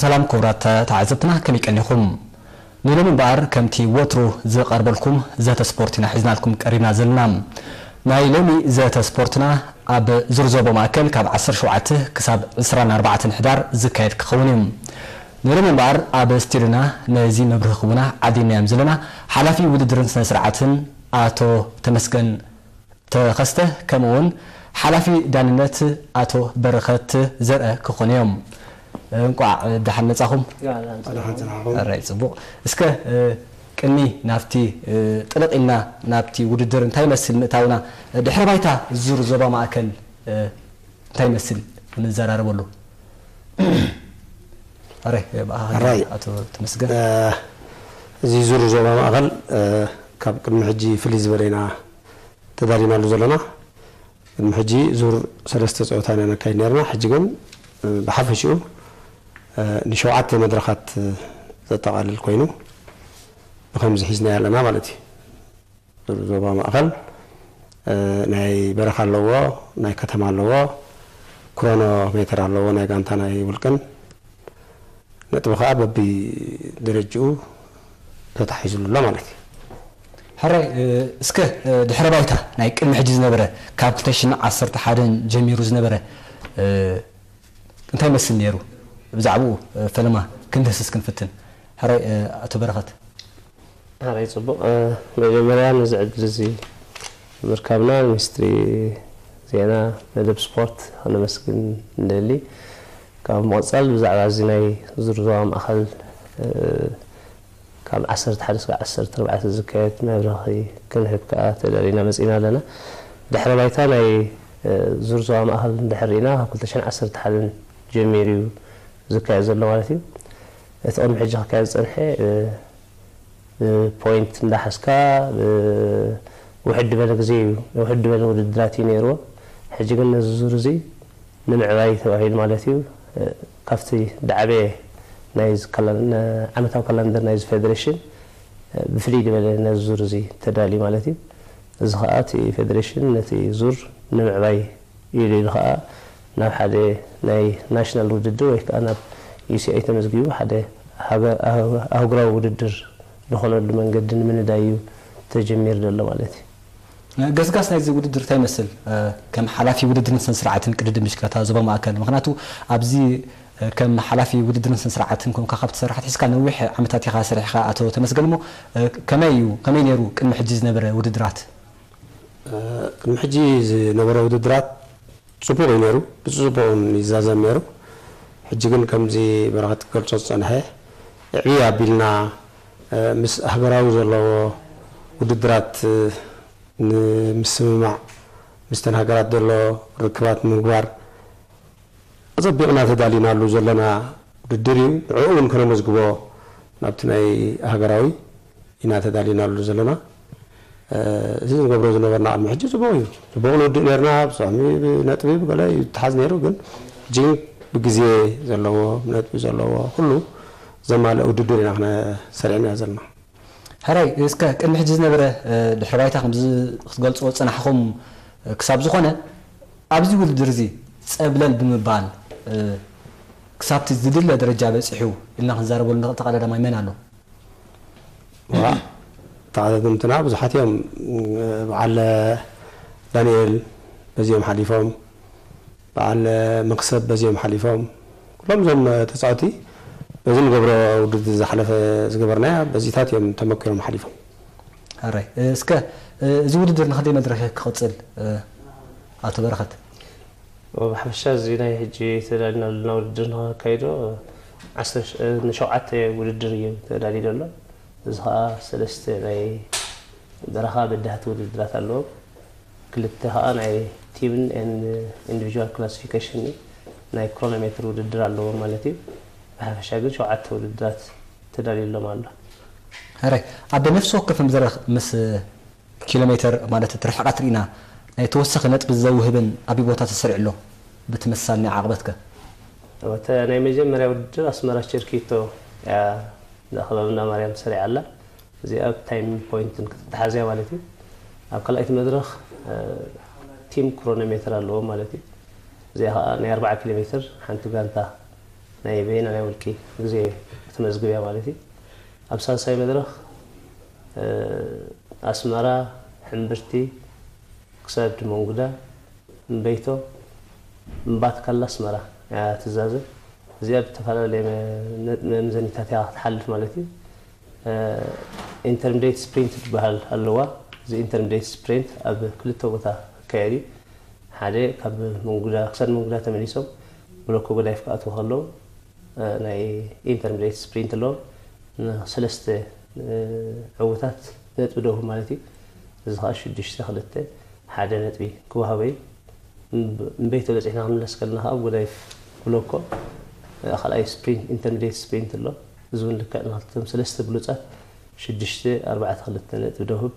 ሰላም ክቡራት ተዓዘብትና፣ ከመይ ቀኒኹም? ንሎሚ እምበኣር ከምቲ ወትሩ ዝቐርበልኩም ዘተ ስፖርት ኢና ሒዝናልኩም ቀሪብና ዘለና። ናይ ሎሚ ዘተ ስፖርትና ኣብ ዙር ዞባ ማእከል ካብ ዓሰርተ ሸውዓተ ክሳብ ዕስራን ኣርባዕተን ሕዳር ዝካየድ ክኸውን እዩ። ንሎሚ እምበኣር ኣብ ስቱድዮና ነዚ መብርሂ ክቡና ዓዲምናዮም ዘለና ሓላፊ ውድድርን ስነ ስርዓትን ኣቶ ተመስገን ተኸስተ፣ ከምኡ እውን ሓላፊ ዳንነት ኣቶ በረኸት ዘርአ ክኾኑ እዮም። እንቋዕ ደሓን መጻኹም። ኣራይ ጽቡቕ። እስከ ቅድሚ ናብቲ ጥልቕ ኢልና ናብቲ ውድድር እንታይ ይመስል ምእታውና፣ ድሕረ ባይታ ዙር ዞባ ማእከል እንታይ ይመስል ንዘራረበሉ። ኣራይ ብኣኻ ኣራይ። ኣቶ ተመስገን። እዚ ዙር ዞባ ማእከል ካብ ቅድሚ ሕጂ ፍልይ ዝበለ ኢና ተዳሊናሉ ዘለና። ቅድሚ ሕጂ ዙር ሰለስተ ፀወታ ኢና ነካይድ ነርና። ሕጂ ግን ብሓፈሽኡ ንሸውዓተ መድረኻት ዘጠቓልል ኮይኑ ብከምዚ ሒዝና ኣለና ማለት እዩ። ዙር ዞባ ማእኸል ናይ በረኻ ኣለዎ፣ ናይ ከተማ ኣለዎ፣ ክሮኖ ሜትር ኣለዎ፣ ናይ ጋንታ ናይ ውልቅን ነጥቢ ከዓ በቢ ደረጅኡ ተታሒዙሉ ኣሎ ማለት እዩ። ሕራይ እስከ ድሕረ ባይታ ናይ ቅድሚ ሕጂ ዝነበረ ካብ ክልተ ሽሕን ዓሰርተ ሓደን ጀሚሩ ዝነበረ እንታይ ይመስል ነይሩ? ብዛዕባኡ ፈለማ ክንድህስስ ክንፍትን። ሕራይ ኣቶ በረኸት። ሕራይ ጽቡቕ። መጀመርያ ነዚ ዕድል እዚ ምርካብና ሚኒስትሪ ዜና መደብ ስፖርት ከነመስግን ንደሊ። ካብ ምቕጻል ብዛዕባ እዚ ናይ ዙር ዞባ ማእኸል ካብ ዓሰርተ ሓደ እስካብ ዓሰርተ ኣርባዕተ ዝካየድ መብርሂ ክንህብ ከኣ ተዳሊና መጺና ኣለና። ድሕረ ባይታ ናይ ዙር ዞባ ማእኸል እንድሕር ርኢና ካብ ክልተ ሽሕን ዓሰርተ ሓደን ጀሚሩ እዩ ዝካየድ ዘሎ ማለት እዩ። እቲ ቅድሚ ሕጂ ክካየድ ዝጸንሐ ፖይንት እንዳሓዝካ ውሕድ ዝበለ ግዜ እዩ፣ ውሕድ ዝበለ ውድድራት እዩ ነይርዎ። ሕጂ ግን ነዚ ዙር እዚ ንምዕባይ ተባሂሉ ማለት እዩ ካብቲ ዳዕበ ናይ ዓመታዊ ካላንደር ናይዚ ፌደሬሽን ብፍልይ ዝበለ ነዚ ዙር እዚ ተዳልዩ ማለት እዩ። እዚ ከዓ እቲ ፌደሬሽን ነቲ ዙር ንምዕባይ ኢሉ ኢሉ ከዓ ናብ ሓደ ናይ ናሽናል ውድድር ወይ ከዓ ናብ ዩሲኣይ ተመዝጊቡ ሓደ ኣህጉራዊ ውድድር ዝኾነሉ መንገዲ ንምንዳይ እዩ ተጀሚሩ ዘሎ ማለት እዩ። ገስጋስ ናይዚ ውድድር እንታይ ይመስል? ከም ሓላፊ ውድድርን ስነ ስርዓትን ቅድድም ብሽክለታ ዞባ ማእከል፣ ምክንያቱ ኣብዚ ከም ሓላፊ ውድድርን ስነ ስርዓትን ኮንካ ካብ ትሰርሕ ኣትሒዝካ ነዊሕ ዓመታት ኢኻ ሰሪሕካ ኣቶ ተመስገን፣ እሞ ከመይ እዩ፣ ከመይ ነይሩ ቅድሚ ሕጂ ዝነበረ ውድድራት? ቅድሚ ሕጂ ዝነበረ ውድድራት ጽቡቕ እዩ ነይሩ፣ ብጽቡቕ እውን ይዛዘም ነይሩ። ሕጂ ግን ከምዚ በረኸት ክገልጾ ዝጸንሐ፣ ዕብይ ኣቢልና ምስ ሃገራዊ ዘለዎ ውድድራት ንምስምማዕ፣ ምስተን ሃገራት ዘሎ ርክባት ንምግባር ኣጸቢቕና ተዳሊናሉ ዘለና ውድድር እዩ። ንዕኡ እውን ከነመዝግቦ ናብቲ ናይ ሃገራዊ ኢና ተዳሊናሉ ዘለና። እዚ ንገብሮ ዝነበርና ቅድሚ ሕጂ ጽቡቕ እዩ። ጽቡቕ ንውድእ ነርና፣ ብሳሚ ብነጥቢ ብገለ እዩ ተሓዝ ነይሩ፣ ግን ሕጂ ብግዜ ዘለዎ፣ ብነጥቢ ዘለዎ፣ ኩሉ ዘማልእ ውድድር ኢና ክነሰሪዕና ዘለና። ሕራይ እስከ ቅድሚ ሕጂ ዝነበረ ድሕሪ ባይታ ከምዚ ክትገልጽዎ ዝጸናሕኹም ክሳብ ዝኾነ ኣብዚ ውድድር እዚ ጸብለል ብምባል ክሳብቲ ዝድለ ደረጃ በጺሑ ኢልና ክንዛረበሉ ንኽእል ተቐዳዳማይ መን ኣሎ? ተቐዳደምትና ብዙሓት እዮም። በዓል ዳንኤል በዚኦም ሓሊፎም፣ በዓል መክሰብ በዚኦም ሓሊፎም። ኩሎም እዞም ተጻወቲ በዚ ንገብሮ ውድድር ዝሓለፈ ዝገበርናያ በዚታት እዮም ተመኪሮም ሓሊፎም። ሕራይ እስከ እዚ ውድድር ንኽንደይ መድረኽ ክቕጽል ኣቶ በረኸት? ብሓፈሻ እዚ ናይ ሕጂ ተዳሊና ዘለና ውድድር ንኸካይዶ ንሸውዓተ ውድድር እዩ ተዳልዩ ዘሎ። እዚ ከዓ ሰለስተ ናይ በረኻ በዳህቲ ውድድራት ኣለዎም። ክልተ ከዓ ናይ ቲምን ኢንዲቪጁዋል ክላሲፊኬሽን ናይ ክሮኖሜትር ውድድር ኣለዎም ማለት እዩ። ብሓፈሻ ግን ሸውዓተ ውድድራት ተዳልዩሎም ኣሎ። ሕራይ ኣብ ነፍሲ ወከፍ መድረኽ ምስ ኪሎ ሜትር ማለት እቲ ርሕቐት ርኢና ናይ ተወሰኸ ነጥቢ ዘውህብን ኣበይ ቦታ ተሰሪዑ ኣሎ? ብቲ መሳል ናይ ዓቕበትከ? እተ ናይ መጀመርያ ውድድር ኣስመራ ቸርኪቶ እያ እዛ ክበብ እንዳ ማርያም ተሰሪዓ ኣላ። እዚኣ ብ ታይም ፖይንትን ክትተሓዝ እያ ማለት እዩ። ኣብ ካልኣይቲ መድረኽ ቲም ክሮኖሜትር ኣለዎ ማለት እዩ። እዚኣ ከዓ ናይ ኣርባዓ ኪሎ ሜትር ሓንቲ ጋንታ ናይ በይና ናይ ውልቂ ግዜ ክትመዝግብ እያ ማለት እዩ። ኣብ ሳልሳይ መድረኽ ኣስመራ፣ ሕምብርቲ፣ ክሳድ መንጉዳ፣ እምበይቶ፣ እምባትካላ ኣስመራ እያ ትዛዘም። እዚኣ ብዝተፈላለየ መ- መምዘኒታት እያ ክትሓልፍ ማለት እዩ። ኢንተርሚዲየት ስፕሪንት ዝበሃል ኣለዋ። እዚ ኢንተርሚዲየት ስፕሪንት ኣብ ክልተ ቦታ ክካየድ እዩ። ሓደ ካብ መንጉዳ ክሳድ መንጉዳ ተመሊሶም ብሎኮ ጎዳይፍ ክኣትዉ ከለዉ ናይ ኢንተርሚዲየት ስፕሪንት ኣለዎም። ንሰለስተ ዕውታት ነጥቢ ደውሁ ማለት እዩ። እዚ ከዓ ሽዱሽተ ክልተ ሓደ ነጥቢ ክወሃቦ እዩ። እምበይቶ በፂሕና ክንምለስ ከለና ከዓ ጎዳይፍ ብሎኮ ካልኣይ ስፕሪንት ኢንተርሚዲየት ስፕሪንት ኣሎ። እዚ እውን ልክዕ ንክልተም ሰለስተ ብሉፃት ሽዱሽተ ኣርባዕተ ክልተ ነጥቢ ደውህብ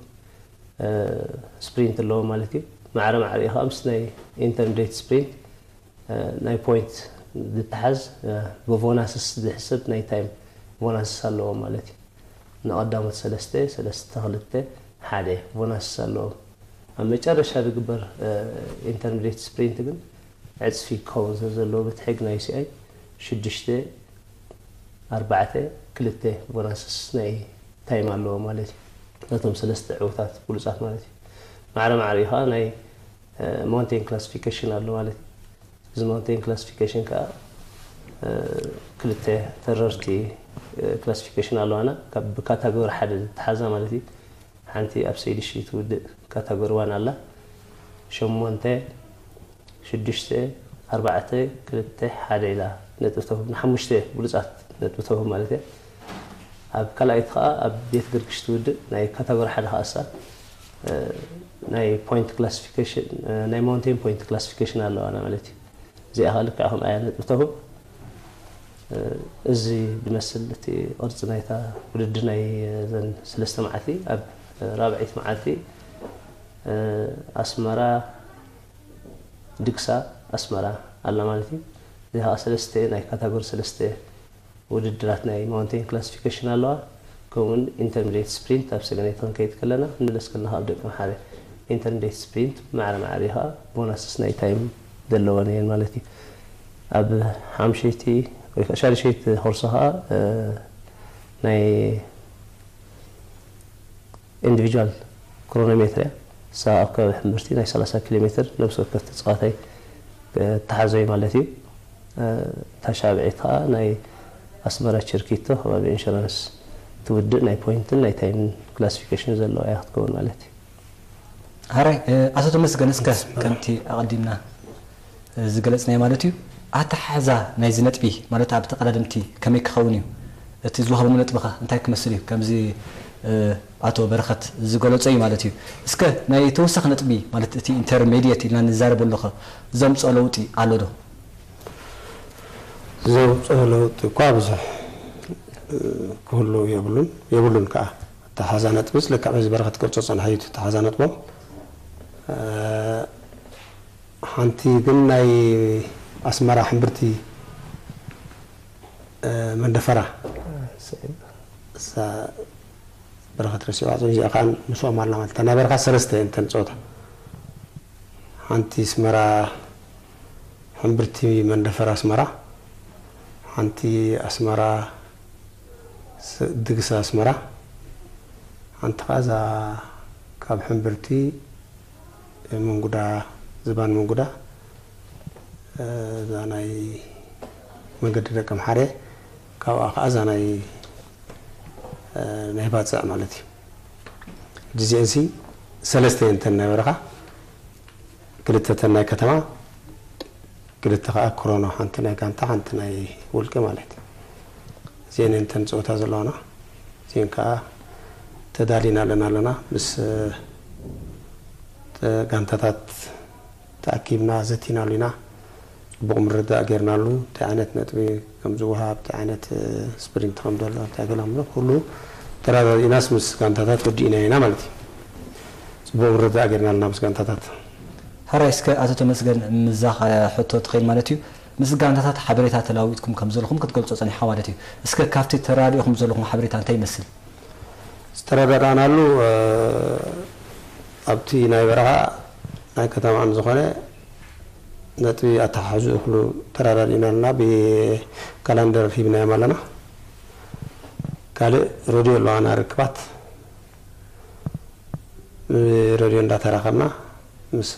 ስፕሪንት ኣለዎ ማለት እዩ። ማዕረ ማዕሪኡ ከዓ ምስ ናይ ኢንተርሚዲየት ስፕሪንት ናይ ፖይንት ዝተሓዝ ብቦናስስ ዝሕሰብ ናይ ታይም ቦናስስ ኣለዎ ማለት እዩ። ንቐዳሞት ሰለስተ ሰለስተ ክልተ ሓደ ቦናስስ ኣለዎም። ኣብ መጨረሻ ዝግበር ኢንተርሚዲየት ስፕሪንት ግን ዕፅፊ ክኸውን ስለ ዘለዎ በቲ ሕግ ናይ ዩሲኣይ ሽዱሽተ ኣርባዕተ ክልተ ቦናስስ ናይ ታይም ኣለዎ ማለት እዩ። ነቶም ሰለስተ ዕውታት ብሉፃት ማለት እዩ። ማዕረ ማዕሪኡ ከዓ ናይ ማውንቴን ክላሲፊኬሽን ኣሎ ማለት እዩ። እዚ ማውንቴን ክላሲፊኬሽን ከዓ ክልተ ተረርቲ ክላሲፊኬሽን ኣለዋና፣ ካብ ብካታጎሪ ሓደ ዝተሓዛ ማለት እዩ። ሓንቲ ኣብ ሰይዲ ሺ ትውድእ ካታጎሪ ዋን ኣላ። ሸሞንተ ሽዱሽተ ኣርባዕተ ክልተ ሓደ ኢላ ነጥቢ ተውህብ፣ ንሓሙሽተ ብሉፃት ነጥቢ ተውህብ ማለት እያ። ኣብ ካልኣይቲ ከዓ ኣብ ቤት ግርግሽ ትውድእ ናይ ካታጎሪ ሓደ ከኣሳ ናይ ፖይንት ክላሲፊኬሽን ናይ ማውንቴን ፖይንት ክላሲፊኬሽን ኣለዋና ማለት እዩ። እዚኣ ከዓ ልክዕ ከምኣ እያ ነጥቢ ተውህብ። እዚ ዝመስል እቲ ቅርፂ ናይታ ውድድር ናይ ዘን ሰለስተ መዓልቲ ኣብ ራብዐይቲ መዓልቲ ኣስመራ ድግሳ ኣስመራ ኣላ ማለት እዩ። እዚ ከዓ ሰለስተ ናይ ካታጎሪ ሰለስተ ውድድራት ናይ ማውንቴን ክላሲፊኬሽን ኣለዋ። ከምኡውን ኢንተርሚዲየት ስፕሪንት ኣብ ሰገነይቲ ክንከይድ ከለና ክንምለስ ከለና ካብ ደቂ መሓረ ኢንተርሚዲየት ስፕሪንት ማዕረ ማዕረ ከዓ ቦናስስ ናይ ታይም ዘለወን እየን ማለት እዩ። ኣብ ሓምሸይቲ ወይ ከዓ ሻድሸይቲ ኮርሶ ከዓ ናይ ኢንዲቪጁዋል ክሮኖሜትር እያ። እሳ ኣብ ከባቢ ሕምብርቲ ናይ ሰላሳ ኪሎ ሜትር ነብሲ ወከፍ ተፃዋታይ ተሓዞይ ማለት እዩ። እታ ሻብዒት ከዓ ናይ ኣስመራ ችርኪቶ ከባቢ ኢንሹራንስ ትውድእ ናይ ፖይንትን ናይ ታይምን ክላሲፊኬሽን ዘለዋ እያ ክትከውን ማለት እዩ። ሃራይ ኣቶ ተመስገን እስከ ከምቲ ኣቐዲምና ዝገለጽናዮ ማለት እዩ ኣተሓሕዛ ናይዚ ነጥቢ ማለት ኣብ ተቐዳደምቲ ከመይ ክኸውን እዩ እቲ ዝወሃቦም ነጥቢ ከ እንታይ ክመስል እዩ ከምዚ ኣቶ በረኸት ዝገለጾ እዩ ማለት እዩ እስከ ናይ ተወሳኺ ነጥቢ ማለት እቲ ኢንተርሜድየት ኢልና ንዛረበሉ ከ ዘምፅኦ ለውጢ ኣሎ ዶ ዘውፅኦ ለውጢ እኳ ብዙሕ ክህሉ የብሉን የብሉን ከዓ ኣተሓዛ ነጥብስ ልክዕ በዚ በረኸት ክገልፆ ዝፀንሐ እዩ እቲ ኣተሓዛ ነጥቦም ሓንቲ ግን ናይ ኣስመራ ሕምብርቲ መንደፈራ እሳ በረኸት ረሲዋ እዚኣ ከዓ ምስኦም ኣላ ማለት ናይ በረኻ ሰለስተ እንተን ፀወታ ሓንቲ ኣስመራ ሕምብርቲ መንደፈራ ኣስመራ ሓንቲ ኣስመራ ድግስ ኣስመራ ሓንቲ ከዓ እዛ ካብ ሕምብርቲ መንጉዳ ዝባን መንጉዳ እዛ ናይ መንገዲ ደቂ ኣምሓርየ ካብኣ ከዓ እዛ ናይ ናይ ባፅዕ ማለት እዩ ዲዚኤንሲ ሰለስተ እየን እተን ናይ በረኻ ክልተ እተን ናይ ከተማ ክልተ ከዓ ክሮኖ ሓንቲ ናይ ጋንታ ሓንቲ ናይ ውልቂ ማለት እዚአን እየን እተን ፀወታ ዘለዋና እዚአን ከዓ ተዳሊና ኣለና ኣለና ምስ ጋንታታት ተኣኪብና ዘቲናሉ ኢና ፅቡቕ ምርዳእ ጌርናሉ እንታይ ዓይነት ነጥቢ ከም ዝወሃብ እንታይ ዓይነት ስፕሪንት ከም ዘሎ እንታይ ገለ ምሎ ኩሉ ተረዳዲእናስ ምስ ጋንታታት ወዲእና ኢና ማለት እዩ ፅቡቕ ምርዳእ ጌርና ኣለና ምስ ጋንታታት ሕራይ እስከ ኣቶ ተመስገን ምዛ ሕቶ ትኸይድ ማለት እዩ ምስ ጋንታታት ሓበሬታ ተለዋዊጥኩም ከም ዘለኹም ክትገልጾ ጸኒሕኻ ማለት እዩ እስከ ካብቲ ተራዲእኹም ዘለኹም ሓበሬታ እንታይ ይመስል ዝተረዳዳእናሉ ኣብቲ ናይ በረኻ ናይ ከተማ ዝኾነ ነጥቢ ኣተሓሕዝኡ ኩሉ ተረዳዲእና ኣለና። ብካላንደር ሂብናዮም ኣለና። ካልእ ሬድዮ ኣለዋና ርክባት። ብሬድዮ እንዳተራኸብና ምስ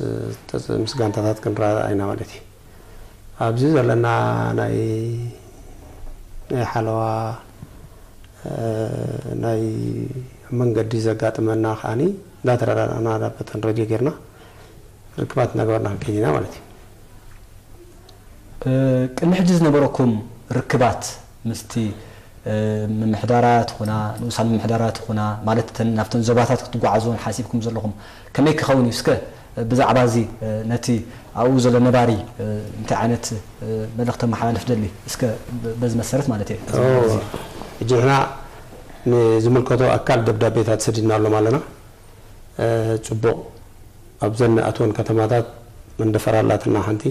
ተጽ-፣ ምስ ጋንታታት ክንረዳዳእ ኢና ማለት እዩ። ኣብዚ ዘለና ናይ፣ ናይ ሓለዋ፣ እ፣ ናይ መንገዲ ዘጋጥመና ከኣኒ እንዳተረዳዳእና በተን ሬድዮ ጌርና ርክባት እናገበርና ክንከይድ ኢና ማለት እዩ። እ፣ ቅድሚ ሕጂ ዝነበረኩም ርክባት ምስቲ፣ እ፣ ምምሕዳራት ኹና፣ ንኡሳን ምምሕዳራት ኹና፣ ማለት እተን ናብተን ዞባታት ክትጓዓዙ ሓሲብኩም ዘለኹም ከመይ ክኸውን እዩ? እስከ ብዛዕባ እዚ፣ እ፣ ነቲ ኣብኡ ዘሎ ነባሪ፣ እ፣ እንታይ ዓይነት፣ እ፣ መልእኽቲ ተመሓላልፍ ደሊ? እስከ ብ-፣ በዚ መሰረት ማለት እየ። ኦ፣ እዚ ሕጂ ንሕና ንዝምልከቶ ኣካል ደብዳቤታት ሰዲድናሎም ኣለና። እ፣ ጽቡቕ፣ ኣብዘን ንኣትወን ከተማታት መንደፈራ ኣላትና ሓንቲ፣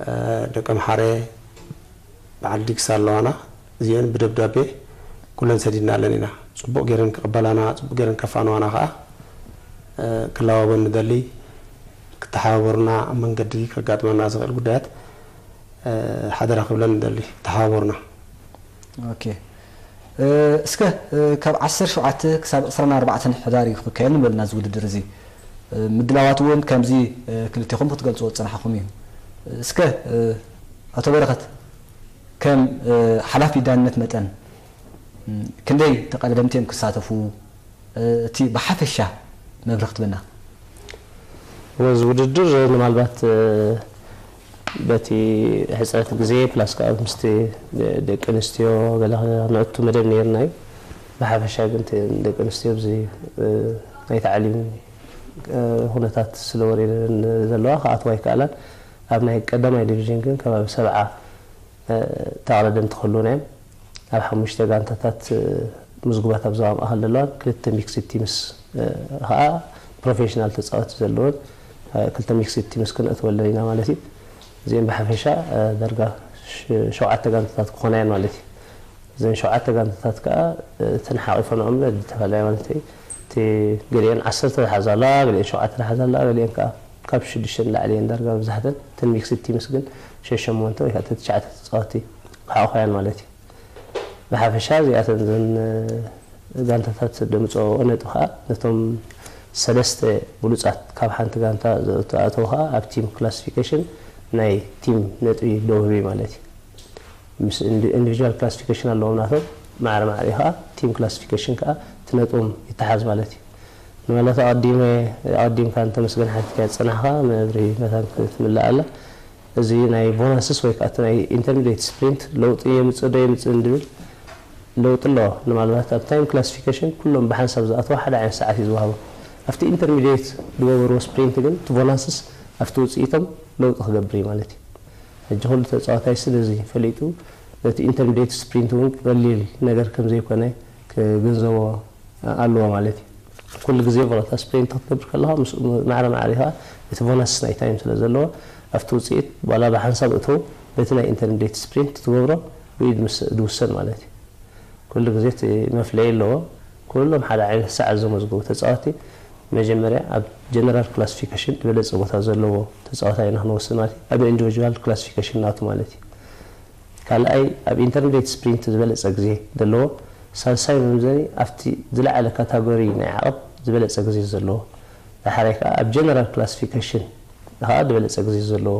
እ፣ ደቀምሓረ፣ በዓል ዲግሳ ኣለዋና። እዚአን ብደብዳቤ ኩለን ሰዲድናለን ኢና። ጽቡቕ ገይረን ክቕበላና፣ ጽቡቕ ገይረን ከፋንዋና ከኣ፣ እ፣ ክላወበን ንደሊ። ክተሓባበሩና፣ ኣብ መንገዲ ከጋጥመና ዝኽእል ጉዳያት፣ እ፣ ሓደራ ክብለን ንደሊ፣ ክተሓባበሩና። ኦኬ። እ፣ እስከ፣ እ፣ ካብ ዓሰርተ ሸውዓተ ክሳብ ዕስራን ኣርባዕተን ሕዳር እዩ ክካየድ ንበልና እዚ ውድድር እዚ። እ፣ ምድላዋት እውን ከምዚ፣ እ፣ ክልቴኹም ክትገልጽዎ ዝጸናሕኩም እዩ። እስከ፣ እ፣ ኣቶ በረኸት፣ ከም፣ እ፣ ሓላፊ ዳንነት መጠን፣ ም፣ ክንደይ ተቐዳደምቲ እዮም ክሳተፉ? እ፣ እቲ ብሓፈሻ መብርህ ክትበና። እዚ ውድድር ምናልባት፣ እ፣ በቲ ሕጽረት ግዜ ፕላስ ከኣ ምስቲ ደ-፣ ደቂ ኣንስትዮ ገለ ነእቱ መደብ ነይርና እዩ። ብሓፈሻ ግን እቲ ደቂ ኣንስትዮ ኣብዚ፣ እ፣ ናይ ታዕሊም፣ እ፣ ኩነታት ስለ ወሪደን ዘለዋ ክኣትዋ ኣይከኣላን። ኣብ ናይ ቀዳማይ ዲቪዥን ግን ከባቢ ሰብዓ፣ እ፣ ተቐዳደምቲ ክህልዉና እዮም። ኣብ ሓሙሽተ ጋንታታት፣ እ፣ ምዝጉባት ኣብ ዞባ ማእከል ዘለዋን ክልተ ሚክስድ ቲምስ፣ እ፣ ከኣ ፕሮፌሽናል ተጻወትቲ ዘለወን፣ እ፣ ክልተ ሚክስድ ቲምስ ክነእትወለን ኢና ማለት እዩ። እዚአን ብሓፈሻ፣ እ፣ ዳርጋ ሽ-፣ ሸውዓተ ጋንታታት ክኾና እየን ማለት እዩ። እዘን ሸውዓተ ጋንታታት ከኣ፣ እ፣ እተን ሓቒፈንኦም ብዝተፈላለየ ማለት እዩ። እቲ ገሊአን ዓሰርተ ዝሓዛ ኣለዋ፣ ገሊአን ሸውዓተ ዝሓዛ ኣለዋ፣ ገሊአን ከኣ ካብ ሽዱሽተ ንላዕሊ እየን ዳርጋ መብዛሕተን። እተን ሚክስድ ቲምስ ግን ሸሸሞንተ ወይ ከዓ ተትሽዓተ ተጻወትቲ ክሓቑፋ እየን ማለት እዩ። ብሓፈሻ እዚኣተን እዘን፣ እ፣ ጋንታታት ደምፅኦ ነጥቢ ከዓ ነቶም ሰለስተ ብሉፃት ካብ ሓንቲ ጋንታ ዝኣተው ከዓ ኣብ ቲም ክላሲፊኬሽን ናይ ቲም ነጥቢ ደው ህብ ማለት እዩ። ምስ ኢንዲ-፣ ኢንዲቪጁዋል ክላሲፊኬሽን ኣለዎም ናቶም፣ ማዕረ ማዕረ እዩ ከዓ ቲም ክላሲፊኬሽን ከዓ እቲ ነጥቦም ይተሓዝ ማለት እዩ። ንማለት ኣቐዲመ፣ ኣቐዲምካ እንተመስገን ሓቲትካ ዝፀናሕካ መብርሂ መታን ክትምልእ ኣላ። እዚ ናይ ቦናስስ ወይ ከዓ እቲ ናይ ኢንተርሚዲየት ስፕሪንት ለውጢ የምፅእ ዶ የምፅእ እንድብል ለውጢ ኣለዎ። ንማልባት ኣብ ታይም ክላሲፊኬሽን ኩሎም ብሓንሳብ ዝኣተዋ ሓደ ዓይነት ሰዓት እዩ ዝወሃቦ። ኣብቲ ኢንተርሚዲየት ዝገበርዎ ስፕሪንት ግን እቲ ቦናስስ ኣብቲ ውፅኢቶም ለውጢ ክገብር እዩ ማለት እዩ። ሕጂ ኩሉ ተፃዋታይ ስለዚ ፈሊጡ ነቲ ኢንተርሚዲየት ስፕሪንት እውን ቀሊል ነገር ከም ዘይኮነ ክግንዘቦ ኣለዎ ማለት እዩ። ኩሉ ግዜ ቮላታ ስፕሪንት ክትገብር ከለኻ ምስ ማዕረ ማዕረ ኢኻ እቲ ቦናስ ናይ ታይም ስለ ዘለዎ ኣብቲ ውፅኢት ዋላ ብሓንሳብ እተው በቲ ናይ ኢንተርሚዲየት ስፕሪንት ትገብሮ ብኢድ ምስ ዝውሰን ማለት እዩ። ኩሉ ግዜ እቲ መፍለይ ኣለዎ። ኩሎም ሓደ ዓይነት ሰዓት ዘመዝገቡ ተፃወቲ መጀመርያ ኣብ ጀነራል ክላሲፊኬሽን ዝበለፀ ቦታ ዘለዎ ተፃዋታይ ኢና ክንወስድ ማለት እዩ። ኣብ ኢንዲቪጁዋል ክላሲፊኬሽን ናቱ ማለት እዩ። ካልኣይ ኣብ ኢንተርሚዲየት ስፕሪንት ዝበለፀ ግዜ ዘለዎ፣ ሳልሳይ መምዘኒ ኣብቲ ዝለዓለ ካታጎሪ ናይ ዓቐብ ዝበለፀ ግዜ ዘለዎ፣ ዳሕራይ ከዓ ኣብ ጀነራል ክላሲፊኬሽን ከዓ ዝበለፀ ግዜ ዘለዎ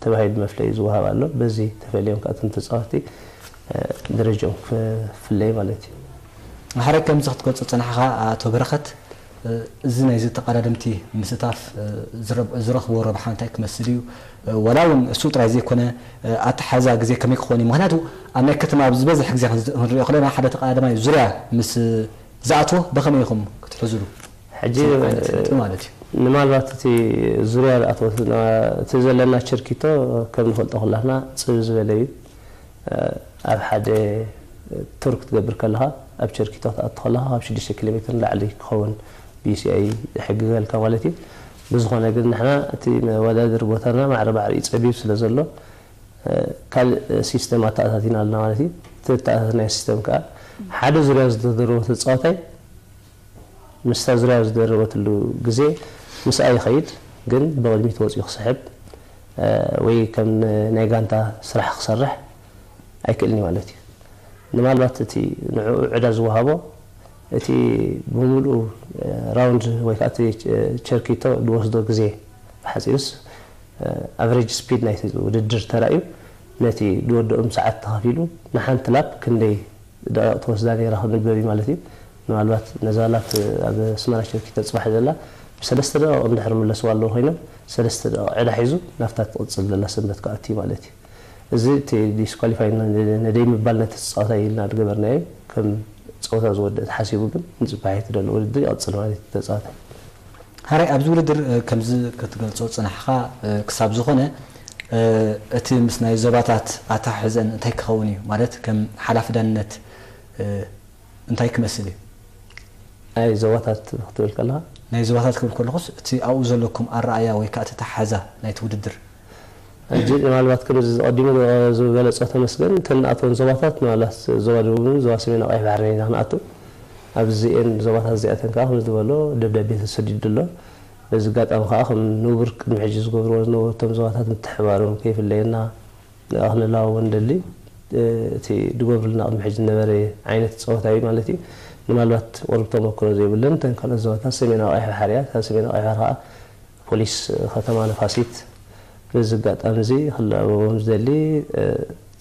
ተባሂሉ መፍለይ ዝወሃብ ኣሎ። በዚ ተፈልዮም ከዓ እቶም ተፃወትቲ፣ እ፣ ደረጃኦም ክፍለይ ማለት እዩ። ማሕረግ ከምዚ ክትገልጾ ዝጸናሕኻ ኣቶ በረኸት፣ እ፣ እዚ ናይዚ ተቐዳደምቲ ምስታፍ፣ እ፣ ዝረብ-፣ ዝረኽብዎ ረብሓ እንታይ ክመስል እዩ? እ፣ ዋላ እውን እሱ ጥራይ ዘይኮነ፣ እ፣ ኣተሓዛ ግዜ ከመይ ክኸውን እዩ? ምኽንያቱ ኣብ ናይ ከተማ ኣብ ዝበዝሕ ግዜ ክንዝ-፣ ክንሪኦ ከለና ሓደ ተቐዳዳማይ ዙርያ ምስ ዝኣትዎ ብኸመይ ኢኹም ክትሕዙሉ? ሕጂ፣ እቲ ዓይነት ነጥቢ ማለት እዩ። ምናልባት እቲ ዙርያ ዝኣትወትና፣ እቲ ዘለና ቸርኪቶ ከም ንፈልጦ ኩላትና ጽብ ዝበለ እዩ። ኣብ ሓደ ቱር ክትገብር ከለኻ፣ ኣብ ቸርኪቶ ክትኣቱ ከለኻ፣ ካብ ሽዱሽተ ኪሎ ሜትር ንላዕሊ ክኸውን ቢ ሲ ኣይ ይሕግገልካ ማለት እዩ። ብዝኾነ ግን ንሕና እቲ መወዳደሪ ቦታና ማዕረ ማዕረ እዩ ጸቢብ ስለ ዘሎ፣ ካልእ ሲስተም ኣተኣታቲና ኣለና ማለት እዩ። እቲ እተኣታተናዮ ሲስተም ከኣ ሓደ ዙርያ ዝተደረቦ ተጻዋታይ ምስታ ዙርያ ዝደረበትሉ ግዜ ምስኣ ይኸይድ፣ ግን ብቕድሚት ወጺኡ ክስሕብ፣ ወይ ከም ናይ ጋንታ ስራሕ ክሰርሕ ኣይክእልን እዩ ማለት እዩ። ንማልባት እቲ ንዕኡ ዕዳ ዝወሃቦ እቲ ብምሉኡ ራውንድ ወይ ከዓ እቲ ቸርኪቶ ዝወስዶ ግዜ ብሓፂሩስ ኣቨሬጅ ስፒድ ናይቲ ውድድር ተራእዩ ነቲ ዝወደኦም ሰዓት ተኸፊሉ ንሓንቲ ላፕ ክንደይ ደቂቕ ትወስዳ ነይራ ክንበብ እዩ ማለት እዩ። ምናልባት ነዛ ላፕ ኣብ ኣስመራ ቸርኪቶ ፅባሕ ዘላ ብሰለስተ ደቂቕ እንድሕር ምለስዋ ኣለዉ ኮይኖም ሰለስተ ደቂቕ ዕዳ ሒዙ ናብታ ትቕፅል ዘላ ሰንበት ክኣቱ እዩ ማለት እዩ። እዚ እቲ ዲስኳሊፋይ ነደይ ምባል ነቲ ተፃዋታይ ኢልና ዝገበርናዮ ከም ፀወታ ዝወድእ ተሓሲቡ ግን ንፅባሒት ዘሎ ውድድር ይቐፅል ማለት እዩ ተፃዋታይ። ሓራይ ኣብዚ ውድድር ከምዚ ክትገልፆ ፅናሕኻ ክሳብ ዝኾነ እቲ ምስ ናይ ዞባታት ኣተሓሕዘን እንታይ ክኸውን እዩ ማለት ከም ሓላፊ ዳንነት እንታይ ክመስል እዩ? ናይ ዞባታት ክትብል ከለኻ ናይ ዞባታት ክብል ከለኹስ እቲ ኣብኡ ዘለኩም ኣረኣያ ወይ ከዓ ተተሓዛ ናይቲ ውድድር ሕጂ ምናልባት ከም ዝቐዲሙ ዝበለፆ ተመስገን እተን ንኣተወን ዞባታት ምናልባት ዞባ ደቡብን ዞባ ሰሜን ቀይሕ ባሕርን ኢና ክንኣቱ ኣብዚኤን ዞባታት እዚኣተን ከዓ ከም ዝበሎ ደብዳቤ ተሰዲዱ ኣሎ በዚ ኣጋጣሚ ከዓ ከም ንቡር ቅድሚ ሕጂ ዝገብርዎ ዝነበሩ እቶም ዞባታት ምትሕባሮም ከይፍለየና ክንላወ ንደሊ እቲ ዝገብርልና ቅድሚ ሕጂ ዝነበረ ዓይነት ፀወታ እዩ ማለት እዩ ምናልባት ቁሩብ ተመክሮ ዘይብለን እተን ካልኦት ዞባታት ሰሜናዊ ቀይሕ ባሕሪ እያ ሰሜናዊ ቀይሕ ባሕሪ ከዓ ፖሊስ ከተማ ነፋሲት በዚ ኣጋጣሚ እዚ ክላበቦም ዝደሊ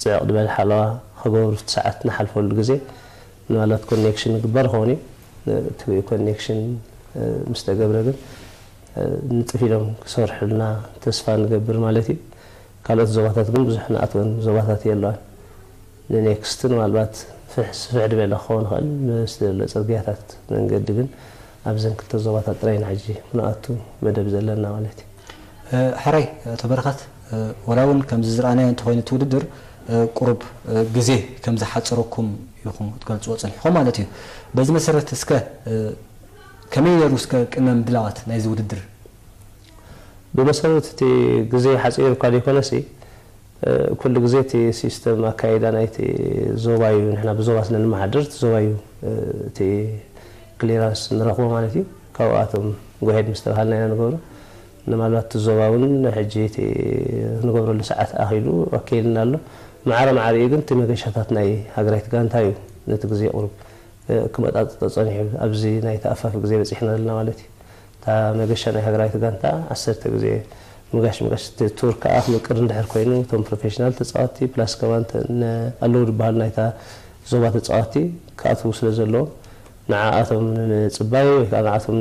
ፅዕቕ ዝበለ ሓለዋ ክገብሩ እቲ ሰዓት ንሓልፈሉ ግዜ ምናልባት ኮኔክሽን ይግበር ይኸውን እዩ እቲ ኮኔክሽን ምስ ተገብረ ግን ንጥፍ ኢሎም ክሰርሑልና ተስፋ ንገብር ማለት እዩ ካልኦት ዞባታት ግን ብዙሕ ንኣትወን ዞባታት የለዋን ንኔክስት ምናልባት ፍሕ ስፍሕ ዝበለ ክኸውን ይኽእል ምስ ዘሎ ፅርግያታት መንገዲ ግን ኣብዘን ክልተ ዞባታት ጥራይ ኢና ሕጂ ክንኣቱ መደብ ዘለና ማለት እዩ። ሕራይ ኣቶ በረኸት፣ ወላ እውን ከምዚ ዝረኣናዮ እንተኾይኑ እቲ ውድድር ቁሩብ ግዜ ከም ዝሓፀረኩም ኢኹም ክትገልፅዎ ፀኒሕኹም ማለት እዩ። በዚ መሰረት እስከ ከመይ ነይሩ እስከ ቅድመ ምድላዋት ናይዚ ውድድር? ብመሰረት እቲ ግዜ ሓፂሩካ ዘይኮነሲ ኩሉ ግዜ እቲ ሲስተም ኣካይዳ ናይቲ ዞባ እዩ ንሕና ብዞባ ስለ ንመሓድር እቲ ዞባ እዩ እቲ ክሊራንስ ንረኽቦ ማለት እዩ ካብኣቶም ጎሄድ ምስ ተባሃልና ኢና ንገብሮ ምናልባት እቲ ዞባ እውን ሕጂ እቲ ንገብረሉ ሰዓት ኣኺሉ ኣካይልና ኣሎ ማዕረ ማዕሪኡ ግን እቲ መገሻታት ናይ ሃገራዊት ጋንታ እዩ ነቲ ግዜ ቁሩብ ክመጣጥጦ ፀኒሑ ኣብዚ ናይ ተኣፋፊ ግዜ በፂሕና ዘለና ማለት እዩ እታ መገሻ ናይ ሃገራዊት ጋንታ ዓሰርተ ግዜ ምጋሽ ምጋሽ እቲ ቱር ከዓ ክምቅር እንድሕር ኮይኑ እቶም ፕሮፌሽናል ተፃወትቲ ፕላስ ከማን ኣለዉ ዝበሃሉ ናይታ ዞባ ተፃወትቲ ክኣትዉ ስለ ዘለዎም ንዓኣቶም ንምፅባይ ወይ ከዓ ንዓቶም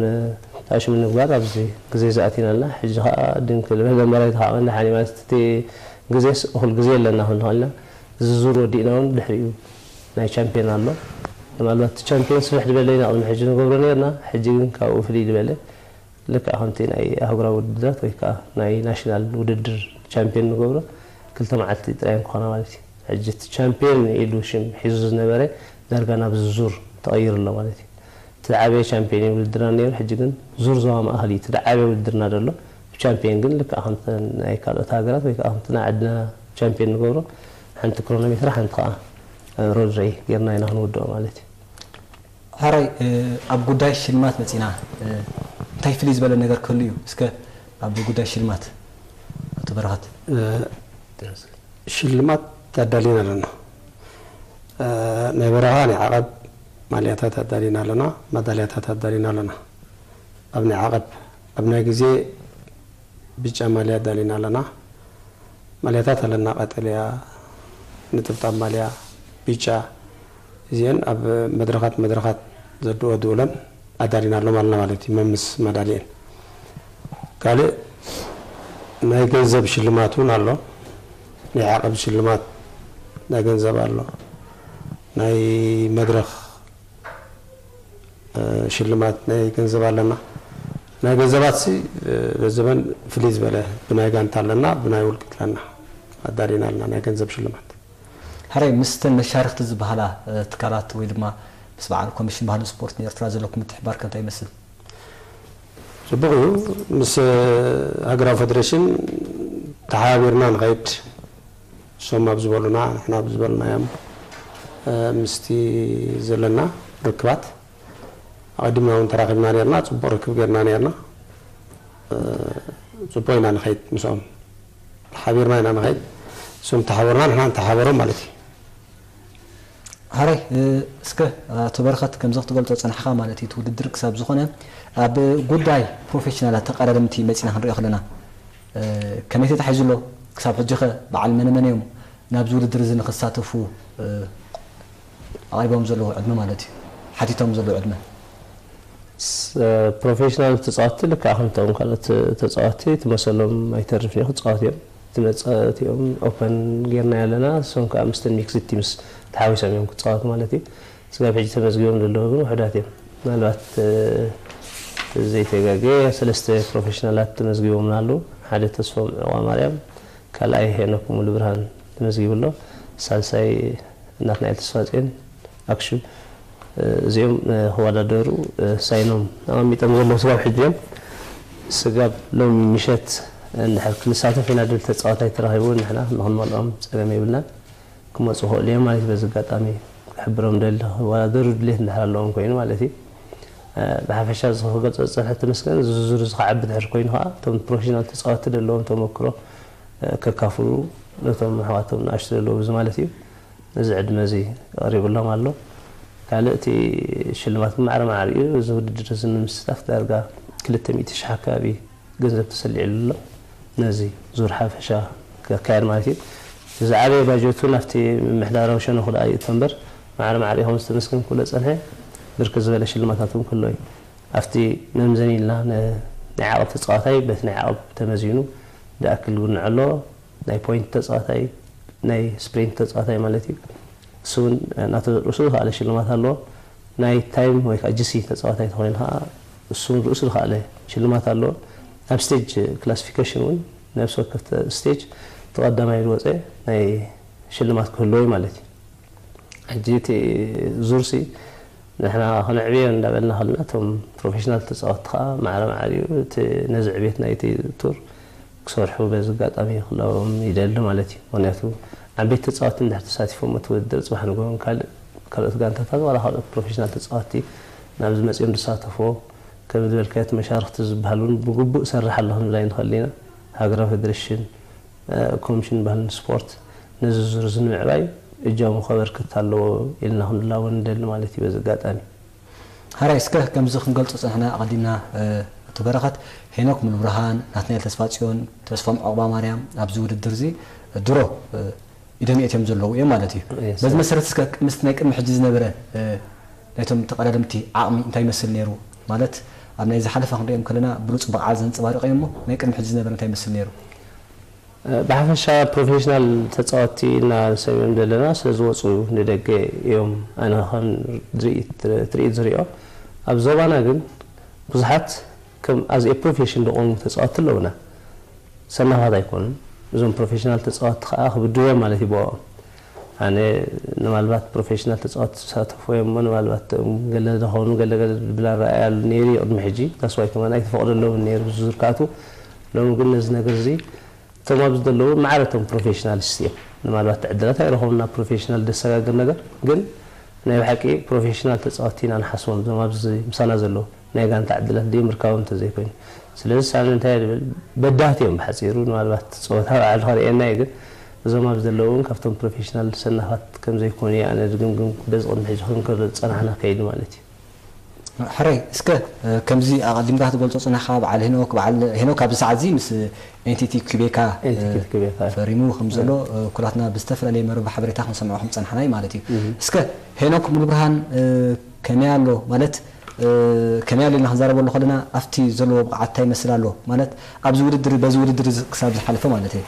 ተኣሽሙ ንምግባር ኣብዚ ግዜ ዝኣቲና ኣለና ሕጂ ከዓ ድንክ ዝበለ መራዊት ከዓ መላሓኒ ማለት እቲ ግዜስ እኹል ግዜ ኣለና ክንኾልና እዚ ዙር ወዲእና እውን ድሕሪኡ ናይ ቻምፒዮን ኣሎ ምናልባት እቲ ቻምፒዮን ስፍሕ ዝበለ ኢና ቅድሚ ሕጂ ንገብሮ ነርና ሕጂ ግን ካብኡ ፍልይ ዝበለ ልክዕ ከምቲ ናይ ኣህጉራዊ ውድድራት ወይ ከዓ ናይ ናሽናል ውድድር ቻምፒዮን ንገብሮ ክልተ መዓልቲ ጥራይ ክኾና ማለት እዩ ሕጂ እቲ ቻምፒዮን ኢሉ ሽም ሒዙ ዝነበረ ዳርጋ ናብ ዝዙር ተቐይሩ ኣሎ ማለት እዩ እቲ ዝዓበየ ቻምፒዮን እዩ ውድድርና ነይሩ ሕጂ ግን ዙር ዞባ ማእኸል እዩ እቲ ዝዓበየ ውድድርና ዘሎ ብቻምፒዮን ግን ልክዕ ከምተን ናይ ካልኦት ሃገራት ወይ ከዓ ከምቲ ናይ ዓድና ቻምፒዮን ንገብሮ ሓንቲ ክሮኖሜትራ ሓንቲ ከዓ ሮድረይ ጌርና ኢና ክንውድኦ ማለት እዩ ሕራይ ኣብ ጉዳይ ሽልማት መፂና እንታይ ፍልይ ዝበለ ነገር ክህሉ እዩ እስከ ኣብ ጉዳይ ሽልማት ኣቶ በረኸት ሽልማት ኣዳሊና ኣለና ናይ በረኻ ናይ ዓቐብ ማልያታት ኣዳሊና ኣለና ማዳልያታት ኣዳሊና ኣለና ኣብ ናይ ዓቐብ ኣብ ናይ ግዜ ብጫ ማልያ ኣዳሊና ኣለና ማልያታት ኣለና ቀጠልያ ንጥብጣብ ማልያ ቢጫ እዚአን ኣብ መድረኻት መድረኻት ዘድኦ ድኡለን ኣዳሊና ኣሎም ኣለና ማለት እዩ መምስ መዳሊአን ካልእ ናይ ገንዘብ ሽልማት እውን ኣሎ ናይ ዓቐብ ሽልማት ናይ ገንዘብ ኣሎ ናይ መድረኽ ሽልማት ናይ ገንዘብ ኣለና ናይ ገንዘባት ሲ በዘበን ፍልይ ዝበለ ብናይ ጋንታ ኣለና ብናይ ውልቂ ኣለና ኣዳሊና ኣለና ናይ ገንዘብ ሽልማት ሕራይ ምስተን መሻርክቲ ዝበሃላ ትካላት ወይ ድማ ምስ በዓል ኮሚሽን ባህልን ስፖርትን ኤርትራ ዘለኩም ምትሕባር ከ እንታይ ይመስል? ፅቡቕ እዩ ምስ ሃገራዊ ፌደሬሽን ተሓባቢርና ንኸይድ እሶም ኣብ ዝበሉና ንሕና ኣብ ዝበልናዮም ምስቲ ዘለና ርክባት ኣቐዲምና እውን ተራኺብና ነርና ፅቡቕ ርክብ ገርና ነርና ፅቡቕ ኢና ንኸይድ ምስኦም ሓቢርና ኢና ንኸይድ። እሶም ተሓበሩና፣ ንሕና ንተሓበሮም ማለት እዩ። ሓራይ እስከ ኣቶ በረኸት፣ ከምዚ ክትገልጾ ጸናሕኻ ማለት እዩ፣ እቲ ውድድር ክሳብ ዝኾነ ኣብ ጉዳይ ፕሮፌሽናላት ተቐዳደምቲ መጺና ክንሪኦ ከለና ከመይ ተታሒዙ ኣሎ? ክሳብ ሕጂ ኸ በዓል መነ መን እዮም ናብዚ ውድድር እዚ ንኽሳተፉ ኣቕሪቦም ዘለዉ ዕድመ ማለት እዩ፣ ሓቲቶም ዘለዉ ዕድመ? ፕሮፌሽናል ተፃወትቲ ልክዕ ከምቶም ካልኦት ተፃወትቲ ትመሰሎም ኣይተርፍን እዩ፣ ክፃወት እዮም። እቲ መፃወቲኦም ኦፐን ጌርና ኣለና፣ እሶም ከዓ ምስተን ሚክስድ ቲምስ ተሓዊሶም እዮም ክፃወቱ ማለት እዩ። ስጋብ ሕጂ ተመዝጊቦም ዘለዉ ግን ውሑዳት እዮም። ምናልባት ዘይተጋገ ሰለስተ ፕሮፌሽናላት ተመዝጊቦምና ኣለዉ። ሓደ ተስፎም ዕቋ ማርያም፣ ካልኣይ ሄኖክ ሙሉ ብርሃን ተመዝጊቡ ኣሎ። ሳልሳይ ናትናኤል ተስፋጽዮን ኣክሽም። እዚኦም ክወዳደሩ ሳይኖም ኣቐሚጦም ዘለዉ ስጋብ ሕጂ እዮም። ስጋብ ሎሚ ምሸት እንድሕር ክንሳተፍ ኢና ድብል ተፃዋታይ ተረኺቡ ንሕና ንክንመልኦም ፀገም የብልናን። ክመፁ ክኽእሉ እዮም ማለት እዩ። በዚ ኣጋጣሚ ክሕብሮም ደሊ ክወዳደሩ ድሌት እንድሕር ኣለዎም ኮይኑ ማለት እዩ። ብሓፈሻ እዚ ክገልፆ ዝፀንሐ ተመስገን ዝርዝሩ ዝኸዓቢ ድሕር ኮይኑ ከዓ እቶም ፕሮፌሽናል ተፃወትቲ ዘለዎም ተመክሮ ከካፍሉ ነቶም ኣሕዋቶም ንኣሽቱ ዘለዉ ብዙ ማለት እዩ። ነዚ ዕድመ እዚ ቀሪቡሎም ኣሎ። ካልእ እቲ ሽልማት ማዕረ ማዕሪኡ እዚ ውድድር እዚ ንምስታፍ ዳርጋ ክልተ ሚእቲ ሽሕ ኣካባቢ ገንዘብ ተሰሊዕሉ ኣሎ። ነዚ ዙር ሓፈሻ ክካየድ ማለት እዩ። ዝዓበየ ባጀቱ ናብቲ ምምሕዳራዊ ሸነኹ ደኣ ይእቶ እምበር ማዕረ ማዕሪኡ ከም ዝተመስገን ክብሎ ዝጸንሐ ብርክት ዝበለ ሽልማታት እውን ክህሎ እዩ። ኣብቲ መምዘኒ ኢልና ናይ ዓቐብ ተፃዋታይ በቲ ናይ ዓቐብ ተመዚኑ ዝኣክል ግንዖ ኣሎ። ናይ ፖይንት ተፃዋታይ ናይ ስፕሪንት ተፃዋታይ ማለት እዩ። እሱ እውን ናተ ርእሱ ዝኸኣለ ሽልማት ኣለዎ። ናይ ታይም ወይ ከዓ ጂሲ ተፃዋታይ ተኮይኑ ከዓ እሱ እውን ርእሱ ዝኸኣለ ሽልማት ኣለዎ። ኣብ ስቴጅ ክላሲፊኬሽን እውን ነብሲ ወከፍ ስቴጅ ተቐዳማይ ዝወፀ ናይ ሽልማት ክህልዎ እዩ ማለት እዩ። ሕጂ እቲ ዙርሲ ንሕና ክነዕብዮ እንዳበልና ከለና እቶም ፕሮፌሽናል ተፃወትቲ ከዓ ማዕረ ማዕሪኡ እቲ ነዚ ዕቤት ናይቲ ቱር ክሰርሑ በዚ ኣጋጣሚ ክለዎም ይደሊ ማለት እዩ። ምክንያቱ ዓበይቲ ተፃወትቲ እንድሕር ተሳቲፎም እቲ ውድድር ፅባሕ ንግሆ ካልእ ካልኦት ጋንታታት ዋላ ካልኦት ፕሮፌሽናል ተፃወትቲ ናብዚ መፂኦም ዝሳተፍዎ ከም ዝበልካዮ እቲ መሻርክቲ ዝበሃል እውን ብግቡእ ሰርሕ ኣሎ ክንብል ኣይንኽእል ኢና። ሃገራዊ ፌዴሬሽን ኮሚሽን ባህልን ስፖርት ነዚ ዙር እዚ ንምዕባይ እጃሙ ከበርክት ኣለዎ ኢልና ክንላቦ ንደሊ ማለት እዩ። በዚ ኣጋጣሚ ሓራይ እስከ ከምዚ ክንገልጾ ጸንሕና ኣቐዲምና እቲ በረኸት ሄኖክ ሙሉብርሃን፣ ናትናኤል ተስፋጽዮን፣ ተስፎም ዑቕባ ማርያም ኣብዚ ውድድር እዚ ድሮ ኢዶም የእትዮም ዘለዉ እዮም ማለት እዩ። በዚ መሰረት እስከ ምስቲ ናይ ቅድሚ ሕጂ ዝነበረ ናይቶም ተቐዳደምቲ ዓቕሚ እንታይ ይመስል ነይሩ? ማለት ኣብ ናይ ዝሓለፈ ክንሪኦም ከለና ብሉጽ ብቕዓት ዘንጸባርቕ እዮም እሞ ናይ ቅድሚ ሕጂ ዝነበረ እንታይ ይመስል ነይሩ? ብሓፈሻ ፕሮፌሽናል ተፃወትቲ እና ሰሚዖም ዘለና ስለ ዝወፁ ንደገ እዮም። ኣነ ከም ትርኢት ዝሪኦ ኣብ ዞባና ግን ብዙሓት ከም ኣዝ ኤ ፕሮፌሽን ዝቆሙ ተፃወትቲ ኣለውና። ሰናፋት ኣይኮኑን። እዞም ፕሮፌሽናል ተፃወትቲ ከዓ ክብድዎም ማለት እዩ ብኦም። ኣነ ንማልባት ፕሮፌሽናል ተፃወትቲ ዝሳተፉ እዮም እሞ ንማልባት ገለ ዝኸውን ገለ ገለ ዝብል ኣረኣእያ ኣሎ ነይሩ እዩ ቅድሚ ሕጂ። ዳስዋይ ከማን ኣይተፈቕደሎምን ነይሩ ብዙ ዝርካቱ። ሎሚ ግን ነዚ ነገር እዚ እቶም ኣብዚ ዘለዉ ማዕረ እቶም ፕሮፌሽናልስ እዮም። ንማልባት ዕድላት ኣይረኸቡና ፕሮፌሽናል ደሰጋግር ነገር ግን ናይ ብሓቂ ፕሮፌሽናል ተፃወትቲ ኢና ንሓስቦም እዞም ኣብዚ ምሳና ዘለዉ ናይ ጋንታ ዕድላት ድዮም ርካቦም እንተዘይኮይኑ። ስለዚ ሳሚ እንታይ እየ ዝብል በዳህቲ እዮም ብሓፂሩ ንማልባት ፀወታ ባዕሉ ከርእየና እዩ ግን እዞም ኣብዚ ዘለዉ እውን ካብቶም ፕሮፌሽናል ሰናፋት ከምዘይኮኑ እየ ኣነ ዝግምግም በዚ ቅድሚ ሕጂ ክንክር ዝፀናሕና ከይዲ ማለት እዩ። ሕራይ እስከ ከምዚ ኣቐዲምካ ክትገልጾ ጽናሕካ በዓል ሄኖክ በዓል ሄኖክ ኣብዚ ሰዓት እዚ ምስ ኤንቲቲ ኩቤካ ፈሪሙ ከም ዘሎ ኩላትና ብዝተፈላለየ መረብ ሓበሬታ ክንሰምዖ ከም ጸናሕና እዩ ማለት እዩ። እስከ ሄኖክ ሙሉብርሃን ከመይ ኣሎ ማለት ከመይ ኣሎ ኢልና ክንዛረበሉ ከለና ኣብቲ ዘለዎ ብቕዓት እንታይ ይመስል ኣሎ ማለት ኣብዚ ውድድር በዚ ውድድር ክሳብ ዝሓለፈ ማለት እዩ።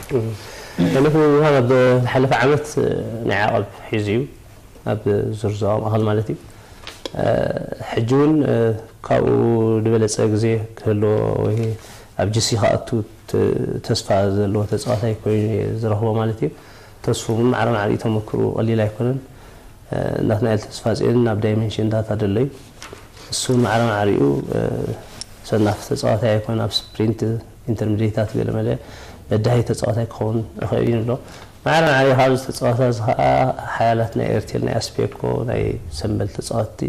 ሄኖክ ሙሉብርሃን ኣብ ዝሓለፈ ዓመት ናይ ዓቐብ ሒዙ እዩ። ኣብ ዙር ዞባ ማእኸል ማለት እዩ። ሕጂ እውን ካብኡ ዝበለፀ ግዜ ክህልዎ ወይ ኣብ ጅሲ ክኣቱ ተስፋ ዘለዎ ተፃዋታይ ኮይኑ ዝረኽቦ ማለት እዩ። ተስፉ እውን ማዕረ ማዕሪኡ ተመክርኡ ቀሊል ኣይኮነን። ናትናኤል ተስፋፅዮን ናብ ዳይሜንሽን ዳታ ደሎ እዩ። እሱ እውን ማዕረ ማዕሪኡ ሰናፍ ተፃዋታይ ኣይኮነ ኣብ ስፕሪንት ኢንተርሚዲየታት ገለመለ በዳሂ ተፃዋታይ ክኸውን ይኽእል እዩ ንብሎ። ማዕረ ማዕሪኡ ካብዚ ተፃዋታ እዚ ከዓ ሓያላት ናይ ኤርቴል ናይ ኣስፔኮ ናይ ሰምበል ተፃወትቲ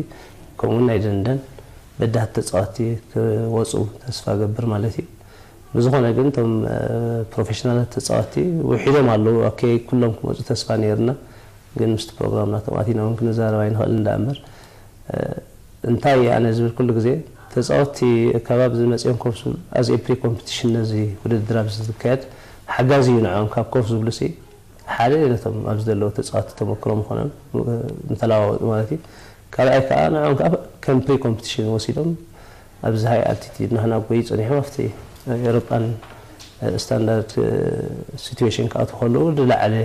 ከምኡውን ናይ ደንደን በዳህቲ ተፃወትቲ ክወፁ ተስፋ ገብር ማለት እዩ። ብዝኾነ ግን እቶም ፕሮፌሽናላት ተፃወትቲ ውሒዶም ኣለዉ። ኦኬ፣ ኩሎም ክመፁ ተስፋ ነይርና፣ ግን ምስቲ ፕሮግራም ናቶም ኣቲና እውን ክንዛረብ ኣይንኽእል እንዳ እምበር፣ እንታይ ኣነ ዝብል ኩሉ ግዜ ተፃወትቲ ከባቢ ዝመፅኦም ኮፍ ዝብል ኣዝ ፕሪ ኮምፒቲሽን ነዚ ውድድር ኣብዚ ዝካየድ ሓጋዚ እዩ። ንዕኦም ካብ ኮፍ ዝብሉ ሲ ሓደ ነቶም ኣብዚ ዘለዉ ተፃወትቲ ተመክሮ ምኾኖም እንተለዋወጡ ማለት እዩ። ካልኣይ ከዓ ንዕኦም ከዓ ከም ፕሪ ኮምፒቲሽን ወሲዶም ኣብዚ ሃይ ኣልቲቲድ ንሕና ጎይ ፀኒሖም ኣብቲ ኤሮጳን ስታንዳርድ ሲትዌሽን ክኣትዉ ከለዉ ዝለዓለ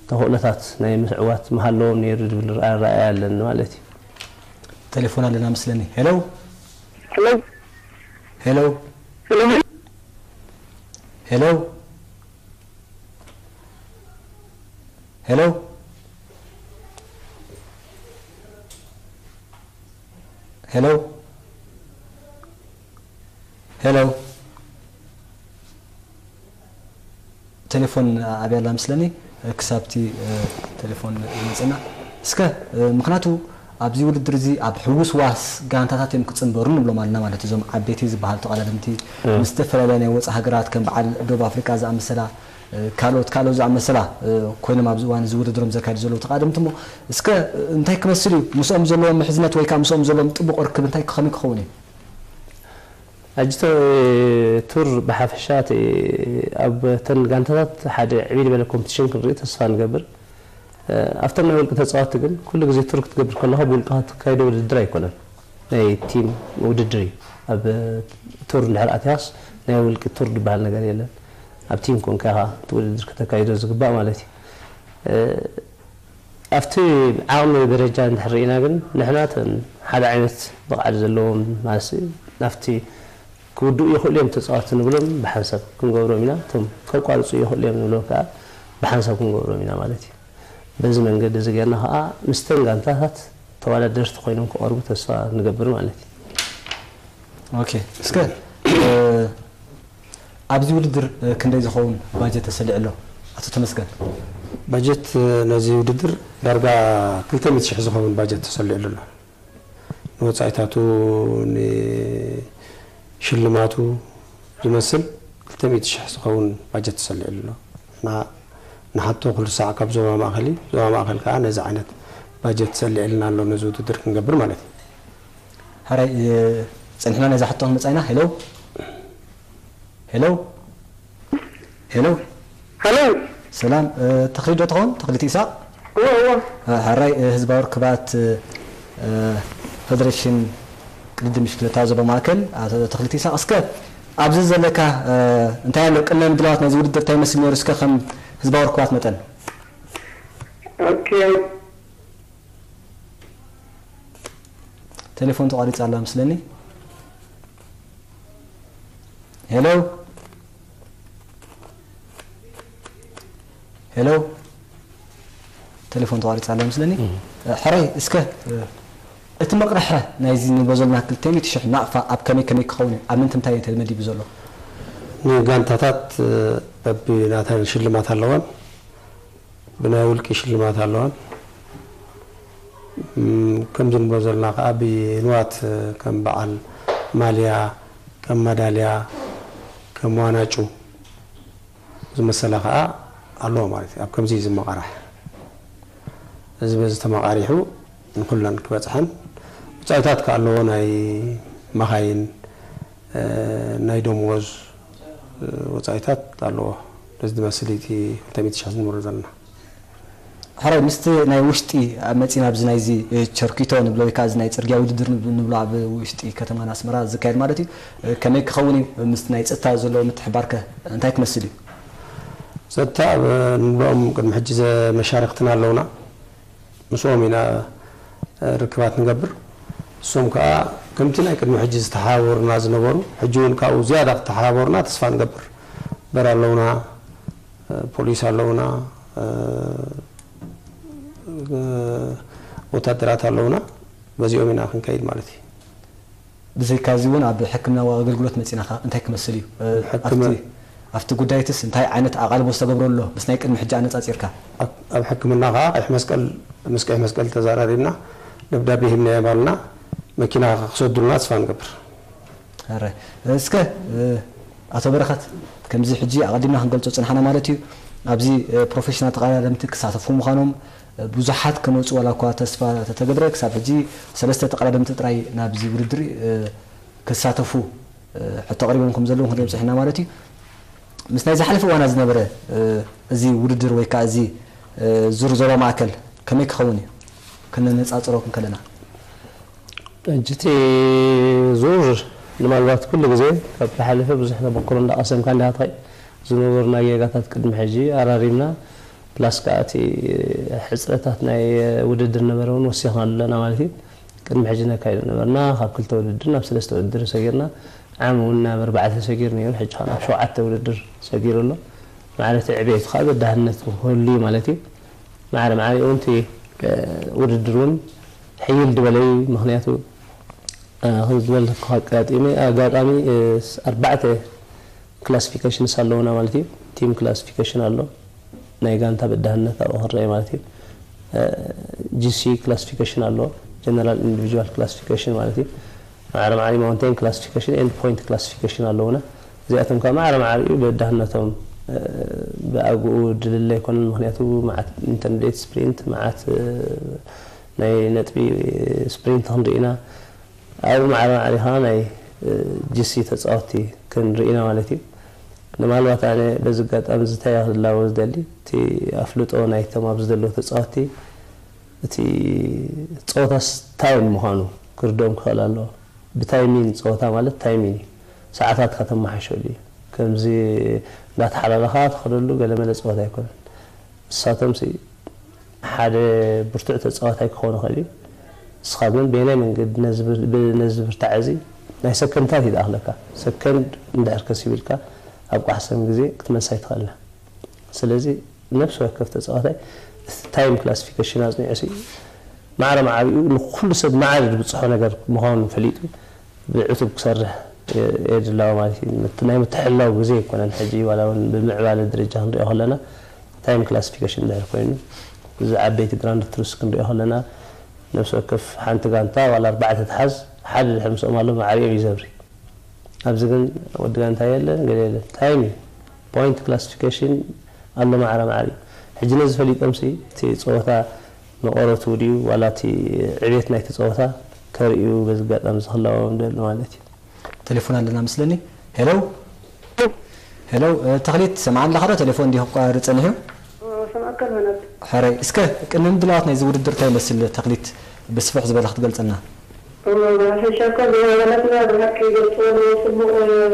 ተኽእሎታት ናይ ምዕዋት ምሃለዎም ነይሩ ዝብል ኣረኣእያ ኣለኒ ማለት እዩ። ቴሌፎን ኣለና መስለኒ። ሄሎ ሄሎ ሄሎ ሄሎ ሄሎ ሄሎ ሄሎ ሄሎ ቴሌፎን ኣብያላ ምስለኒ ክሳብቲ ቴሌፎን ይመፅና እስከ ምክንያቱ ኣብዚ ውድድር እዚ ኣብ ሕጉስ ዋስ ጋንታታት እዮም ክፅንበሩ ንብሎም ኣለና ማለት እዞም ዓበይቲ ዝበሃል ተቐዳደምቲ ምስ ዝተፈላለያ ናይ ወፃእ ሃገራት ከም በዓል ደቡብ ኣፍሪቃ ዝኣመሰላ ካልኦት ካልኦት ዝኣመሰላ ኮይኖም ኣብዚ እዋን እዚ ውድድሮም ዘካይዱ ዘለዉ ተቐዳደምቲ እሞ እስከ እንታይ ክመስል እዩ ምስኦም ዘለዎም ምሕዝነት ወይ ከዓ ምስኦም ዘለዎም ጥቡቕ ርክብ እንታይ ከመይ ክኸውን እዩ ኣጅተ ቱር ብሓፈሻ እቲ ኣብ ተን ጋንታታት ሓደ ዕብይ ዝበለ ኮምፒቲሽን ክንርኢ ተስፋ ንገብር ኣብቶም ናይ ውልቂ ተፃወትቲ ግን ኩሉ ግዜ ቱር ክትገብር ከለኻ ብውልቅኻ ትካይዶ ውድድር ኣይኮነን ናይ ቲም ውድድር እዩ ኣብ ቱር እንድሕር ኣትያስ ናይ ውልቂ ቱር ዝበሃል ነገር የለን ኣብ ቲም ኮንካ ኢኻ እቲ ውድድር ከተካይዶ ዝግባእ ማለት እዩ ኣብቲ ዓቕሚ ደረጃ እንድሕር ርኢና ግን ንሕና እተን ሓደ ዓይነት ብቕዓት ዘለዎም ማለት ናብቲ ክውድኡ ይኽእሉ እዮም ተፃወትቲ ንብሎም ብሓንሳብ ክንገብሮም ኢና እቶም ከቋርፁ ይኽእሉ እዮም ንብሎም ከዓ ብሓንሳብ ክንገብሮም ኢና ማለት እዩ በዚ መንገዲ እዚ ጌርና ከዓ ምስተን ጋንታታት ተወዳደርቲ ኮይኖም ክቐርቡ ተስፋ ንገብር ማለት እዩ ኦኬ እስከ ኣብዚ ውድድር ክንደይ ዝኸውን ባጀት ተሰሊዑ ኣሎ ኣቶ ተመስገን ባጀት ነዚ ውድድር ዳርጋ ክልተ ሚእቲ ሽሕ ዝኸውን ባጀት ተሰሊዑ ኣሎ ንወፃኢታቱ ንሽልማቱ ዝመስል ክልተ ሚእቲ ሽሕ ዝኸውን ባጀት ተሰሊዑ ኣሎ ንሓቶ ኩሉ ሳዕ ካብ ዞባ ማእኸል እዩ ዞባ ማእኸል ከዓ ነዚ ዓይነት ባጀት ተሰሊዕልና ኣሎ ነዚ ውድድር ክንገብር ማለት እዩ ሕራይ ፀንሕና ነዛ ሕቶ ክንመፃ ኢና ሄሎ ሄሎ ሄሎ ሄሎ ሰላም ተኽሊት ዶ ትኸውን ተኽሊት ኢሳቕ እወ እወ ሕራይ ህዝባዊ ርክባት ፈደሬሽን ቅድድም ብሽክለታ ዞባ ማእከል ተኽሊት ኢሳቕ እስከ ኣብዚ ዘለካ እንታይ ኣሎ ቅድመ ምድላዋት ናይዚ ውድድር እንታይ ይመስል ነይሩ እስከ ከም ህዝባዊ ርክባት መጠን ኦኬ ቴሌፎን ተቋሪፃ ኣላ መስለኒ ሄሎ ሄሎ ቴሌፎን ተቋሪፃ ኣላ መስለኒ ሕራይ እስከ እቲ መቕርሐ ናይዚ ንቦ ዘለና ክልተ ሚእቲ ሽሕ ናቕፋ ኣብ ከመይ ከመይ ክኸውን እዩ ኣብ ምንትምታይ እዩ ተመዲቡ ዘሎ ንጋንታታት በብናተን ሽልማት ኣለወን ብናይ ውልቂ ሽልማት ኣለዋን ከምዚ ንቦ ዘለና ከዓ ብንዋት ከም በዓል ማልያ ከም ማዳልያ ከም ዋናጩ ዝመሰለ ከዓ ኣለዎ ማለት እዩ ኣብ ከምዚ ዝመቃራሕ እዚ በዚ ተመቃሪሑ ንኩለን ክበፅሐን ውፃኢታት ከዓ ኣለዎ ናይ መኻይን ናይ ደሞዝ ወፃኢታት ኣለዎ ነዚ ዝመስል እቲ ክልተ ሚእቲ ሽሕ ዝንብሮ ዘለና ሕራይ ምስቲ ናይ ውሽጢ መፂና ኣብዚ ናይዚ ቸርኪቶ ንብሎ ወይ ከዓ እዚ ናይ ፅርግያ ውድድር ንብሎ ኣብ ውሽጢ ከተማና ኣስመራ ዝካየድ ማለት እዩ ከመይ ክኸውን እዩ ምስቲ ናይ ፀጥታ ዘለዎ ምትሕባር ከ እንታይ ክመስል እዩ ፀጥታ ንብሎም ቅድሚ ሕጂ መሻርክትና ኣለውና ምስኦም ኢና ርክባት ንገብር እሶም ከዓ ከምቲ ናይ ቅድሚ ሕጂ ዝተሓባበሩና ዝነበሩ ሕጂ እውን ካብኡ ዝያዳ ክተሓባበሩና ተስፋ ንገብር በር ኣለውና ፖሊስ ኣለውና ወታደራት ኣለውና በዚኦም ኢና ክንከይድ ማለት እዩ ብዘይካዚ እውን ኣብ ሕክምናዊ ኣገልግሎት መፂና ከ እንታይ ክመስል እዩ ኣብቲ ጉዳይትስ እንታይ ዓይነት ኣቓልቦ ዝተገብሮ ኣሎ ምስ ናይ ቅድሚ ሕጂ ኣነፃፂርካ ኣብ ሕክምና ከዓ ቀይሕ መስቀል ምስ ቀይሕ መስቀል ተዘራሪብና ደብዳቤ ሂብናዮም ኣለና መኪና ክሰዱልና ተስፋ ንገብር ኣረ፣ እስከ፣ እ፣ ኣቶ በረኸት፣ ከምዚ ሕጂ ኣቐዲምና ክንገልጾ ጽንሓና ማለት እዩ፣ ኣብዚ፣ እ፣ ፕሮፌሽናል ተቐዳደምቲ ክሳተፉ ምዃኖም፣ እ፣ ብዙሓት ክመጹ ዋላ እኳ ተስፋ ተተገብረ፣ ክሳብ ሕጂ ሰለስተ ተቐዳደምቲ ጥራይ ናብዚ ውድድር፣ እ፣ ክሳተፉ፣ እ፣ ሕቶ ኣቕሪቦም ከም ዘለዉ ክንሪኦም ጽኒሕና ማለት እዩ። ምስ ናይ ዝሓለፈ እዋና ዝነበረ፣ እ፣ እዚ ውድድር ወይ ከኣ እዚ፣ እ፣ ዙር ዞባ ማእከል ከመይ ክኸውን እዩ? ክነነጻጽሮ ክንከለና። ሕጂ እቲ ዙር ንማልባት ኩሉ ግዜ ካብ ዝሓለፈ ብዙሕ ተመክሮ እንዳቐሰምካ እንዲኻ ትኸይድ። ዝነበሩና ጌጋታት ቅድሚ ሕጂ ኣራሪምና፣ ፕላስ ከኣ እቲ ሕጽረታት ናይ ውድድር ነበረ እውን ወሲኽናሉ ኣለና ማለት እዩ። ቅድሚ ሕጂ ነካይዶ ነበርና፣ ካብ ክልተ ውድድር ናብ ሰለስተ ውድድር ሰጊርና፣ ዓም እውን ናብ ኣርባዕተ ሰጊሩ ነይሩ፣ ሕጂ ከኣ ናብ ሸውዓተ ውድድር ሰጊሩ ኣሎ። ማዕረ እቲ ዕቤቱ ከኣ በዳህነት ክህሉ እዩ ማለት እዩ። ማዕረ ማዕሪኡ እውን እቲ ውድድር እውን ሕይል ዝበለ እዩ። ምኽንያቱ ከምዚ ዝበልኩ ኣጋጢመ ኣጋጣሚ ኣርባዕተ ክላሲፊኬሽንስ ኣለውና ማለት እዩ። ቲም ክላሲፊኬሽን ኣሎ፣ ናይ ጋንታ በዳህነት ኣብኡ ክረአ ማለት እዩ። ጂሲ ክላሲፊኬሽን ኣሎ፣ ጀነራል ኢንዲቪጁዋል ክላሲፊኬሽን ማለት እዩ። ማዕረ ማዕሪ ማውንቴን ክላሲፊኬሽን ኤንድ ፖይንት ክላሲፊኬሽን ኣለውና። እዚኣቶም ከዓ ማዕረ ማዕሪኡ በዳህነቶም ብኣግኡ ድልለ ኣይኮነን። ምክንያቱ መዓት ኢንተርሚዲየት ስፕሪንት፣ መዓት ናይ ነጥቢ ስፕሪንት ክንርኢ ኢና። ኣብኡ ማዕረ ማዕሪኻ ናይ ጂሲ ተፃወቲ ክንርኢ ኢና ማለት እዩ። ንማልባት ኣነ በዚ ኣጋጣሚ ዝታይ ክላቦ ዝደሊ እቲ ኣፍልጦ ናይቶም ኣብዚ ዘለዉ ተፃወቲ እቲ ፀወታስ ታይም ምዃኑ ክርድኦም ክኽእል ኣለዎ። ብታይሚን ፀወታ ማለት ታይሚን እዩ። ሰዓታት ከተመሓሸሉ እዩ። ከምዚ እንዳተሓላለኻ ትኸደሉ ገለመለ ፀወታ ኣይኮነን። ንሳቶም ሓደ ብርቱዕ ተፃዋታይ ክኸውን ይኽእል እዩ። ንስኻ ግን በየናይ መንገዲ ነዚ ብርታዐ እዚ ናይ ሰከንድታት እዩ ዝኣኽለካ። ሰከንድ እንድሕር ከሲቢልካ ኣብ ቋሕሰም ግዜ ክትመልሳ ኣይትኽእልና። ስለዚ ነፍሲ ወከፍ ተፃዋታይ እቲ ታይም ክላሲፊኬሽን ኣፅኒዑ ሲ ማዕረ ማዕሪኡ ንኩሉ ሰብ ማዕረ ዝብፅሖ ነገር ምዃኑ ፈሊጡ ብዕቱብ ክሰርሕ የድላዎ ማለት እዩ። ናይ ምትሕላው ግዜ ኣይኮነን ሕጂ ዋላ እውን ብምዕባለ ደረጃ ክንሪኦ ከለና ታይም ክላሲፊኬሽን ድሕር ኮይኑ እዚ ዓበይቲ ግራንድ ቱርስ ክንሪኦ ከለና ነብሲ ወከፍ ሓንቲ ጋንታ ዋላ ኣርባዕተ ትሓዝ ሓደ ድሕር ምስኦም ኣሎ ማዕሪኦም እዩ ዘብሪ። ኣብዚ ግን ወዲ ጋንታ የለን ገለ የለን ታይም እዩ። ፖይንት ክላሲፊኬሽን ኣሎ ማዕረ ማዕሪ እዩ። ሕጂ ነዚ ፈሊጦም ሲ እቲ ፀወታ መቐረቱ ድዩ ዋላ እቲ ዕቤት ናይቲ ፀወታ ከርእዩ በዚ ኣጋጣሚ ዝክላዎም ደሊ ማለት እዩ። ቴሌፎን ኣለና መስለኒ። ሄሎ ሄሎ፣ ተኽሊት ትሰምዓኒ ኣለኻ ዶ? ቴሌፎን እንዲዩ ክቋርጽ ጸኒሑ። ሰማዕካ ምህናት ሕራይ እስከ ቅድሚ ምድላዋት ናይዚ ውድድር እንታይ ይመስል ተኽሊት ብስፍሕ ዝበለ ክትገልጸልና? ብሓፈሻ እኳ ዝነበረትና ብሓቂ ይገልፅዎ ኣለዎ። ፅቡቕ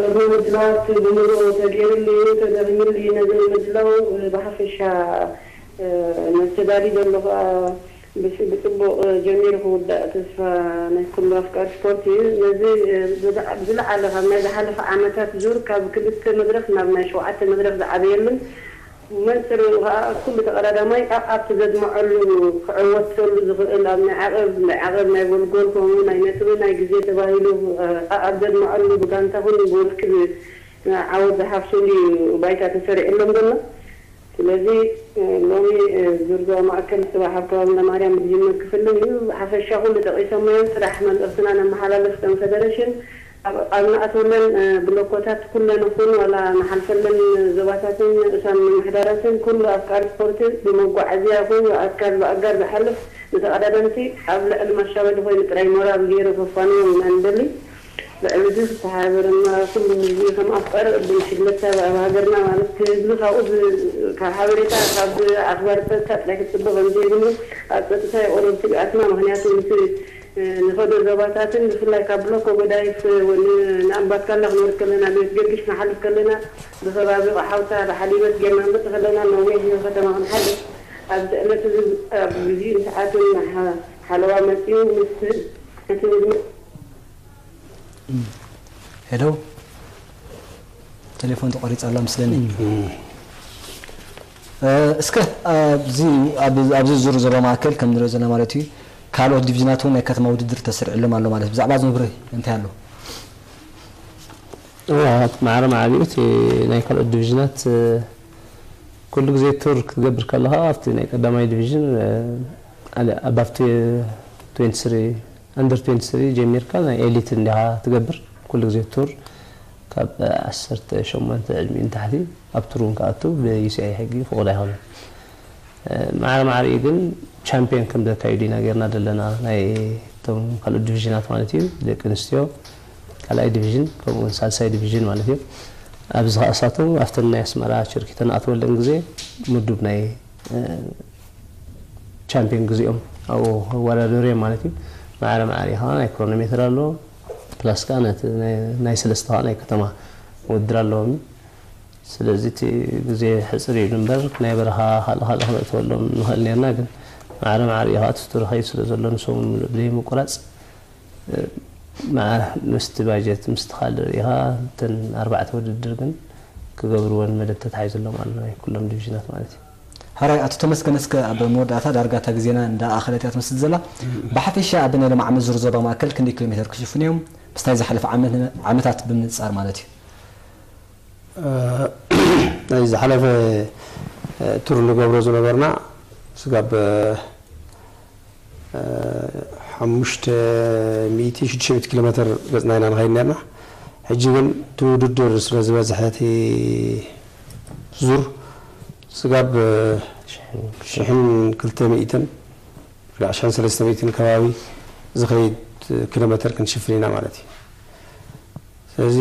ቅድሚ ምድላዋት ብምሉእ ተገይሩሉ እዩ፣ ተደኺሙሉ እዩ። ነዚ ንምድላው ብሓፈሻ መስተዳሊ ዘሎ ከዓ ብፅቡቕ ጀሚሩ ክውዳእ ተስፋ ናይ ኩሉ ኣፍቃሪ ስፖርት እዩ። ነዚ ብዝለዓለ ካብ ናይ ዝሓለፈ ዓመታት ዙር ካብ ክልተ መድረኽ ናብ ናይ ሸውዓተ መድረኽ ዝዓበየሉን መንፅር ከዓ ኩሉ ተቐዳዳማይ ኣኣብቲ ዘድመዐሉ ክዕወተሉ ዝኽእል ኣብ ናይ ዓቐብ ናይ ዓቐብ ናይ ጎልጎል ከምኡ ናይ ነጥቢ ናይ ግዜ ተባሂሉ ኣኣብ ዘድመዐሉ ብጋንታ ኩሉ ብውልቂ ዓወት ዝሓፍሰሉ እዩ ባይታ ተሰሪዕሎም ዘሎ። ስለዚ ሎሚ ዙር ዞባ ማእከል ፅባሕ ኣብ ከባቢ ለማርያም ብዝጅመር ክፍልን እዩ። ብሓፈሻ ኩሉ ጠቒሶሞ እዮም። ፅራሕ መልእኽትና ነመሓላልፍ ከም ፈደረሽን ኣብ ንኣትወለን ብሎኮታት ኩለን ይኹን ዋላ ንሓልፈለን ዞባታትን ንኡሳን ምምሕዳራትን ኩሉ ኣፍቃሪ ስፖርት ብመጓዓዝያ ይኹን ብኣካል ብኣጋር ዝሓልፍ ንተቐዳደምቲ ኣብ ልዕሊ ማሻበዲ ኮይኑ ጥራይ ሞራል ገይሩ ከፋንዎም ኢና ንደሊ። ልዕሊ እዚ ክተሓባበረና ኩሉ ህዝቢ ከም ኣፍቃሪ ቅድም ሽግለታ ኣብ ሃገርና ማለት ህዝቢ ካብኡ ካብ ሓበሬታ ካብ ኣኽባር ፀጥታ ጥራይ ክፅበ ከም ዘይብሉ ኣብ ፀጥታ የቆረብ ስግኣትና ምክንያቱ ምስ ንኸዶ ዞባታትን ብፍላይ ካብ ብሎኮ ጎዳይፍ ንኣምባትካላ ክንወርድ ከለና ቤት ገርግሽ ንሓልፍ ከለና ብከባቢ ቆሓውታ ብሓሊበት ጌርና ንመፅእ ከለና ነዊሕ ከተማ ክንሓልፍ ኣብዚ ዕለት እዚ ኣብ ግዜን ሰዓትን ሓለዋ መፂኡ ምስ እቲ ሄሎ ቴሌፎን ተቋሪጻ ኣላ ምስለኒ። እስከ ኣብዚ ኣብዚ ዙር ዘሎ ማእከል ከም ንሪኦ ዘለና ማለት እዩ ካልኦት ዲቪዥናት እውን ናይ ከተማ ውድድር ተስርዕሎም ኣሎ ማለት ብዛዕባ እዚ መብርሂ እንታይ ኣሎ? ማዕረ ማዕሪኡ እቲ ናይ ካልኦት ዲቪዥናት ኩሉ ግዜ ቱር ክትገብር ከለኻ ኣብቲ ናይ ቀዳማይ ዲቪዥን ኣብቲ ትዌንቲ ስሪ ኣንደር ትዌንቲ ስሪ ጀሚርካ ናይ ኤሊት እንዲኻ ትገብር። ኩሉ ግዜ ቱር ካብ ዓሰርተ ሸሞንተ ዕድሚኡ ንታሕቲ ኣብ ቱር እውን ክኣቱ ብዩሲኣይ ሕጊ ፍቑድ ኣይኮነን። ማዕረ ማዕሪኡ ግን ቻምፒዮን ከም ዘካይዱ ኢና ጌርና ዘለና፣ ናይ እቶም ካልኦት ዲቪዥናት ማለት እዩ፣ ደቂ ኣንስትዮ ካልኣይ ዲቪዥን ከምኡ እውን ሳልሳይ ዲቪዥን ማለት እዩ። ኣብዚ ኸኣ እሳቶም ኣብተን ናይ ኣስመራ ቸርኪተን ኣትወለን ግዜ ምዱብ ናይ ቻምፒዮን ግዜኦም ኣብኡ ክወዳደሩ እዮም ማለት እዩ። ማዕረ ማዕሪኡ ኸዓ ናይ ክሮኖሜትር ኣሎ፣ ፕላስ ከዓ ነቲ ናይ ሰለስተ ከዓ ናይ ከተማ ውድድር ኣለዎም። ስለዚ እቲ ግዜ ሕፅር ኢሉ እምበር ናይ በረኻ ካልእ ካልእ ክነእትወሎም ንኽእል ነርና፣ ግን ማዕረ ማዕሪኡ ከዓ እቲ ቱር ይኸይድ ስለ ዘሎ ንሶም ብዘይምቁራፅ ምስቲ ባጀት ምስቲ ካልእ ርኢኻ እተን ኣርባዕተ ውድድር ግን ክገብርወን መደብ ተታሒዙሎም ኣሎ ናይ ኩሎም ዲቪዥናት ማለት እዩ። ሕራይ ኣቶ ተመስገን፣ እስከ ኣብ መወዳእታ ዳርጋ እታ ግዜና እንዳ ኣኸለት እያ ትመስል ዘላ። ብሓፈሻ ኣብ ናይ ሎም ዓመት ዙር ዞባ ማእከል ክንደይ ኪሎ ሜተር ክሽፍኑ እዮም? ምስታይ ዝሓለፈ ዓመት ዓመታት ብምንጻር ማለት እዩ። ናይ ዝሓለፈ ቱር ንገብሮ ዝነበርና ስጋብ ሓሙሽተ ሚእቲ ሽዱሽተ ሚእቲ ኪሎ ሜተር ገጽና ኢና ንኸይድ ነርና። ሕጂ ግን እቲ ውድድር ስለ ዝበዝሐ እቲ ዙር ስጋብ ሽሕን ክልተ ሚእትን ሽሕን ሰለስተ ሚእትን ከባቢ ዝኸይድ ኪሎ ሜተር ክንሽፍን ኢና ማለት እዩ። ስለዚ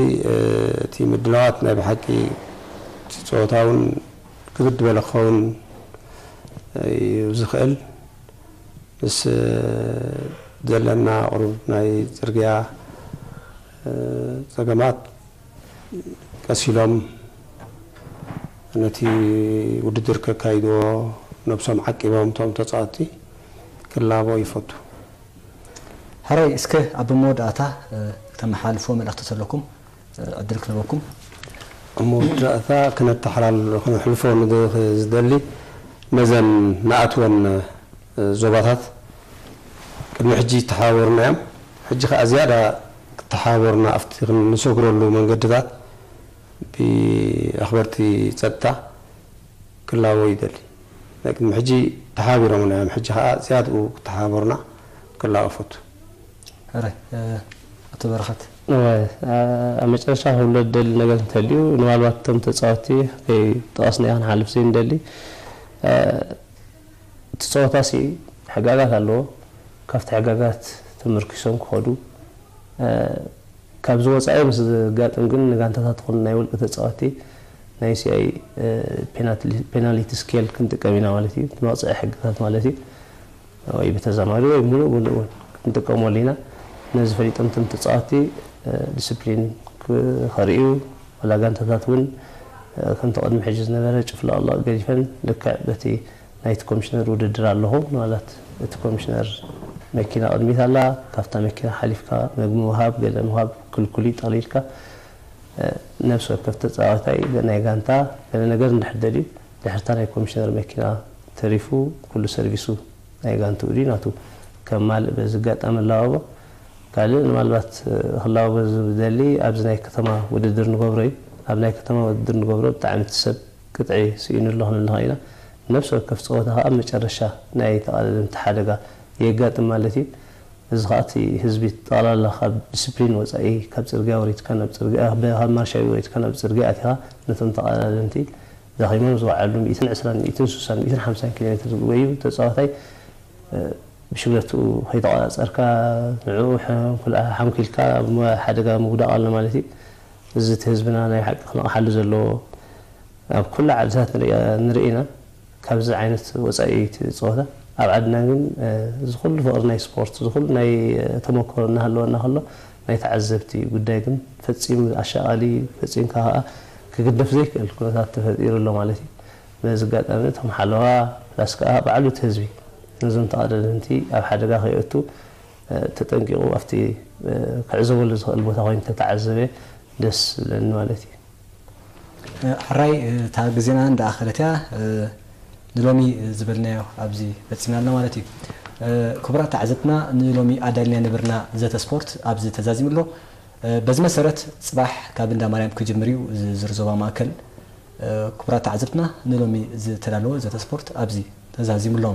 እቲ ምድላዋት ናይ ብሓቂ እቲ ፀወታ እውን ክብድ ዝበለ ክኸውን እዩ ዝኽእል። ምስ ዘለና ቁሩብ ናይ ፅርግያ ፀገማት ቀስ ኢሎም ነቲ ውድድር ከካይድዎ ነብሶም ዓቂቦም እቶም ተፃወትቲ ክላቦ ይፈቱ። ሕራይ እስከ ኣብ መወዳእታ እተመሓላልፍዎ መልእኽቲ ተለኩም ዕድል ክህበኩም። ኣብ መወዳእታ ክነተሓላል ክነሕልፎ ዝደሊ ነዘን ንኣትወን ዞባታት ቅድሚ ሕጂ ይተሓባበሩና እዮም። ሕጂ ከዓ ዝያዳ ክተሓባበሩና ኣብቲ ክንሰግረሉ መንገድታት ብኣኽበርቲ ፀጥታ ክላቦ ይደሊ። ናይ ቅድሚ ሕጂ ተሓባቢሮምና እዮም። ሕጂ ከዓ ዝያድኡ ክተሓባበሩና ክላቦ እፈቱ። ሕራይ ኣቶ በረኸት። ኣብ መጨረሻ ክብሎ ዝደሊ ነገር እንተልዩ፣ ንባልባት እቶም ተፃወትቲ ከይጠቐስናዮ ክንሓልፍ ዘይንደሊ፣ እቲ ፀወታሲ ሕጋጋት ኣለዎ። ካብቲ ሕጋጋት ተመርኪሶም ክኸዱ፣ ካብዚ ወፃኢ ምስ ዘጋጥም ግን ንጋንታታት ይኹን ናይ ውልቂ ተፃወትቲ ናይ ሲኣይ ፔናልቲ ስኬል ክንጥቀም ኢና ማለት እዩ። እቲ መቕፅዒ ሕግታት ማለት እዩ። ወይ ብተዛማዲ ወይ ምሉእ ምሉእ እውን ክንጥቀመሉ ኢና። ነዚ ፈሊጦም እቶም ተፃወትቲ ዲስፕሊን ከርእዩ፣ ዋላ ጋንታታት እውን ከምቲ ቅድሚ ሕጂ ዝነበረ ጭፍላቕላቕ ገዲፈን ልክዕ በቲ ናይቲ ኮሚሽነር ውድድር ኣለኹ ማለት እቲ ኮሚሽነር መኪና ቅድሚት ኣላ፣ ካብታ መኪና ሓሊፍካ መግቢ ምሃብ፣ ገለ ምሃብ ክልኩል እዩ፣ ጠቕሊልካ ነብሲ ወከፍ ተፃዋታይ ናይ ጋንታ ገለ ነገር እንድሕር ደልዩ ድሕርታ ናይ ኮሚሽነር መኪና ተሪፉ ኩሉ ሰርቪሱ ናይ ጋንትኡ ድዩ ናቱ ከማልእ በዚ ኣጋጣሚ ኣላባቦ። ካልእ ምናልባት ክላባቦ ዝደሊ ኣብዚ ናይ ከተማ ውድድር ንገብሮ እዩ። ኣብ ናይ ከተማ ውድድር ንገብሮ ብጣዕሚ እቲ ሰብ ቅጥዒ ስኢኑ ኣሎ ክንብል ንኽእል ኢና። ነብሲ ወከፍ ፀወታ ከዓ ኣብ መጨረሻ ናይ ተቓዳደምቲ ሓደጋ የጋጥም ማለት እዩ። እዚ ከዓ እቲ ህዝቢ ጠቕላላ ካብ ዲስፕሊን ወፃኢ ካብ ፅርግያ ወሪድካ ናብ ፅርግያ፣ ካብ ማርሻ ወሪድካ ናብ ፅርግያ ኣቲኻ ነቶም ተቓዳደምቲ ደኺሞም ዝወዓሉ ሚእትን ዕስራን ሚእትን ሱሳን ሚእትን ሓምሳን ኪሎ ሜትር ዝጎዩ ተፃዋታይ ብሽግለትኡ ከይተቆፃፀርካ ንዕኡ ሓንኪልካ ኣብ ሓደጋ ምውዳቕ ኣሎ ማለት እዩ። እዚ እቲ ህዝብና ናይ ሓቂ ክነቕሓሉ ዘለዎ ኣብ ኩሉ ዓድታት ንርኢ ኢና። ካብዚ ዓይነት ወፃኢ እቲ ፀወታ ኣብ ዓድና ግን እዚ ኩሉ ፍቕሪ ናይ ስፖርት እዚ ኩሉ ናይ ተመክሮ እናሃለወና ከሎ ናይ ተዓዘብቲ ጉዳይ ግን ፈፂሙ ኣሻቓሊ ፈፂምካ ከዓ ክግደፍ ዘይክእል ኩነታት ተፈጢሩ ኣሎ ማለት እዩ። በዚ ኣጋጣሚ እቶም ሓለዋ ፕላስ ከዓ ባዕሉ እቲ ህዝቢ ነዞም ተቐዳደምቲ ኣብ ሓደጋ ከየእቱ ተጠንቂቑ ኣብቲ ክዕዘበሉ ዝኽእል ቦታ ኮይኑ ተተዓዘበ ደስ ዝብለኒ ማለት እዩ። ሕራይ እታ ግዜና እንዳኣኸለት እያ። ንሎሚ ዝበልናዮ ኣብዚ ፈፂምና ኣለና ማለት እዩ። ክቡራት ተዓዘብትና ንሎሚ ኣዳልናዮ ነበርና ዘተ ስፖርት ኣብዚ ተዛዚሙ ኣሎ። በዚ መሰረት ፅባሕ ካብ እንዳ ማርያም ክጅምር እዩ ዝርዞባ ማእከል። ክቡራት ተዓዘብትና ንሎሚ ዝተዳለወ ዘተ ስፖርት ኣብዚ ተዛዚሙ ኣሎ።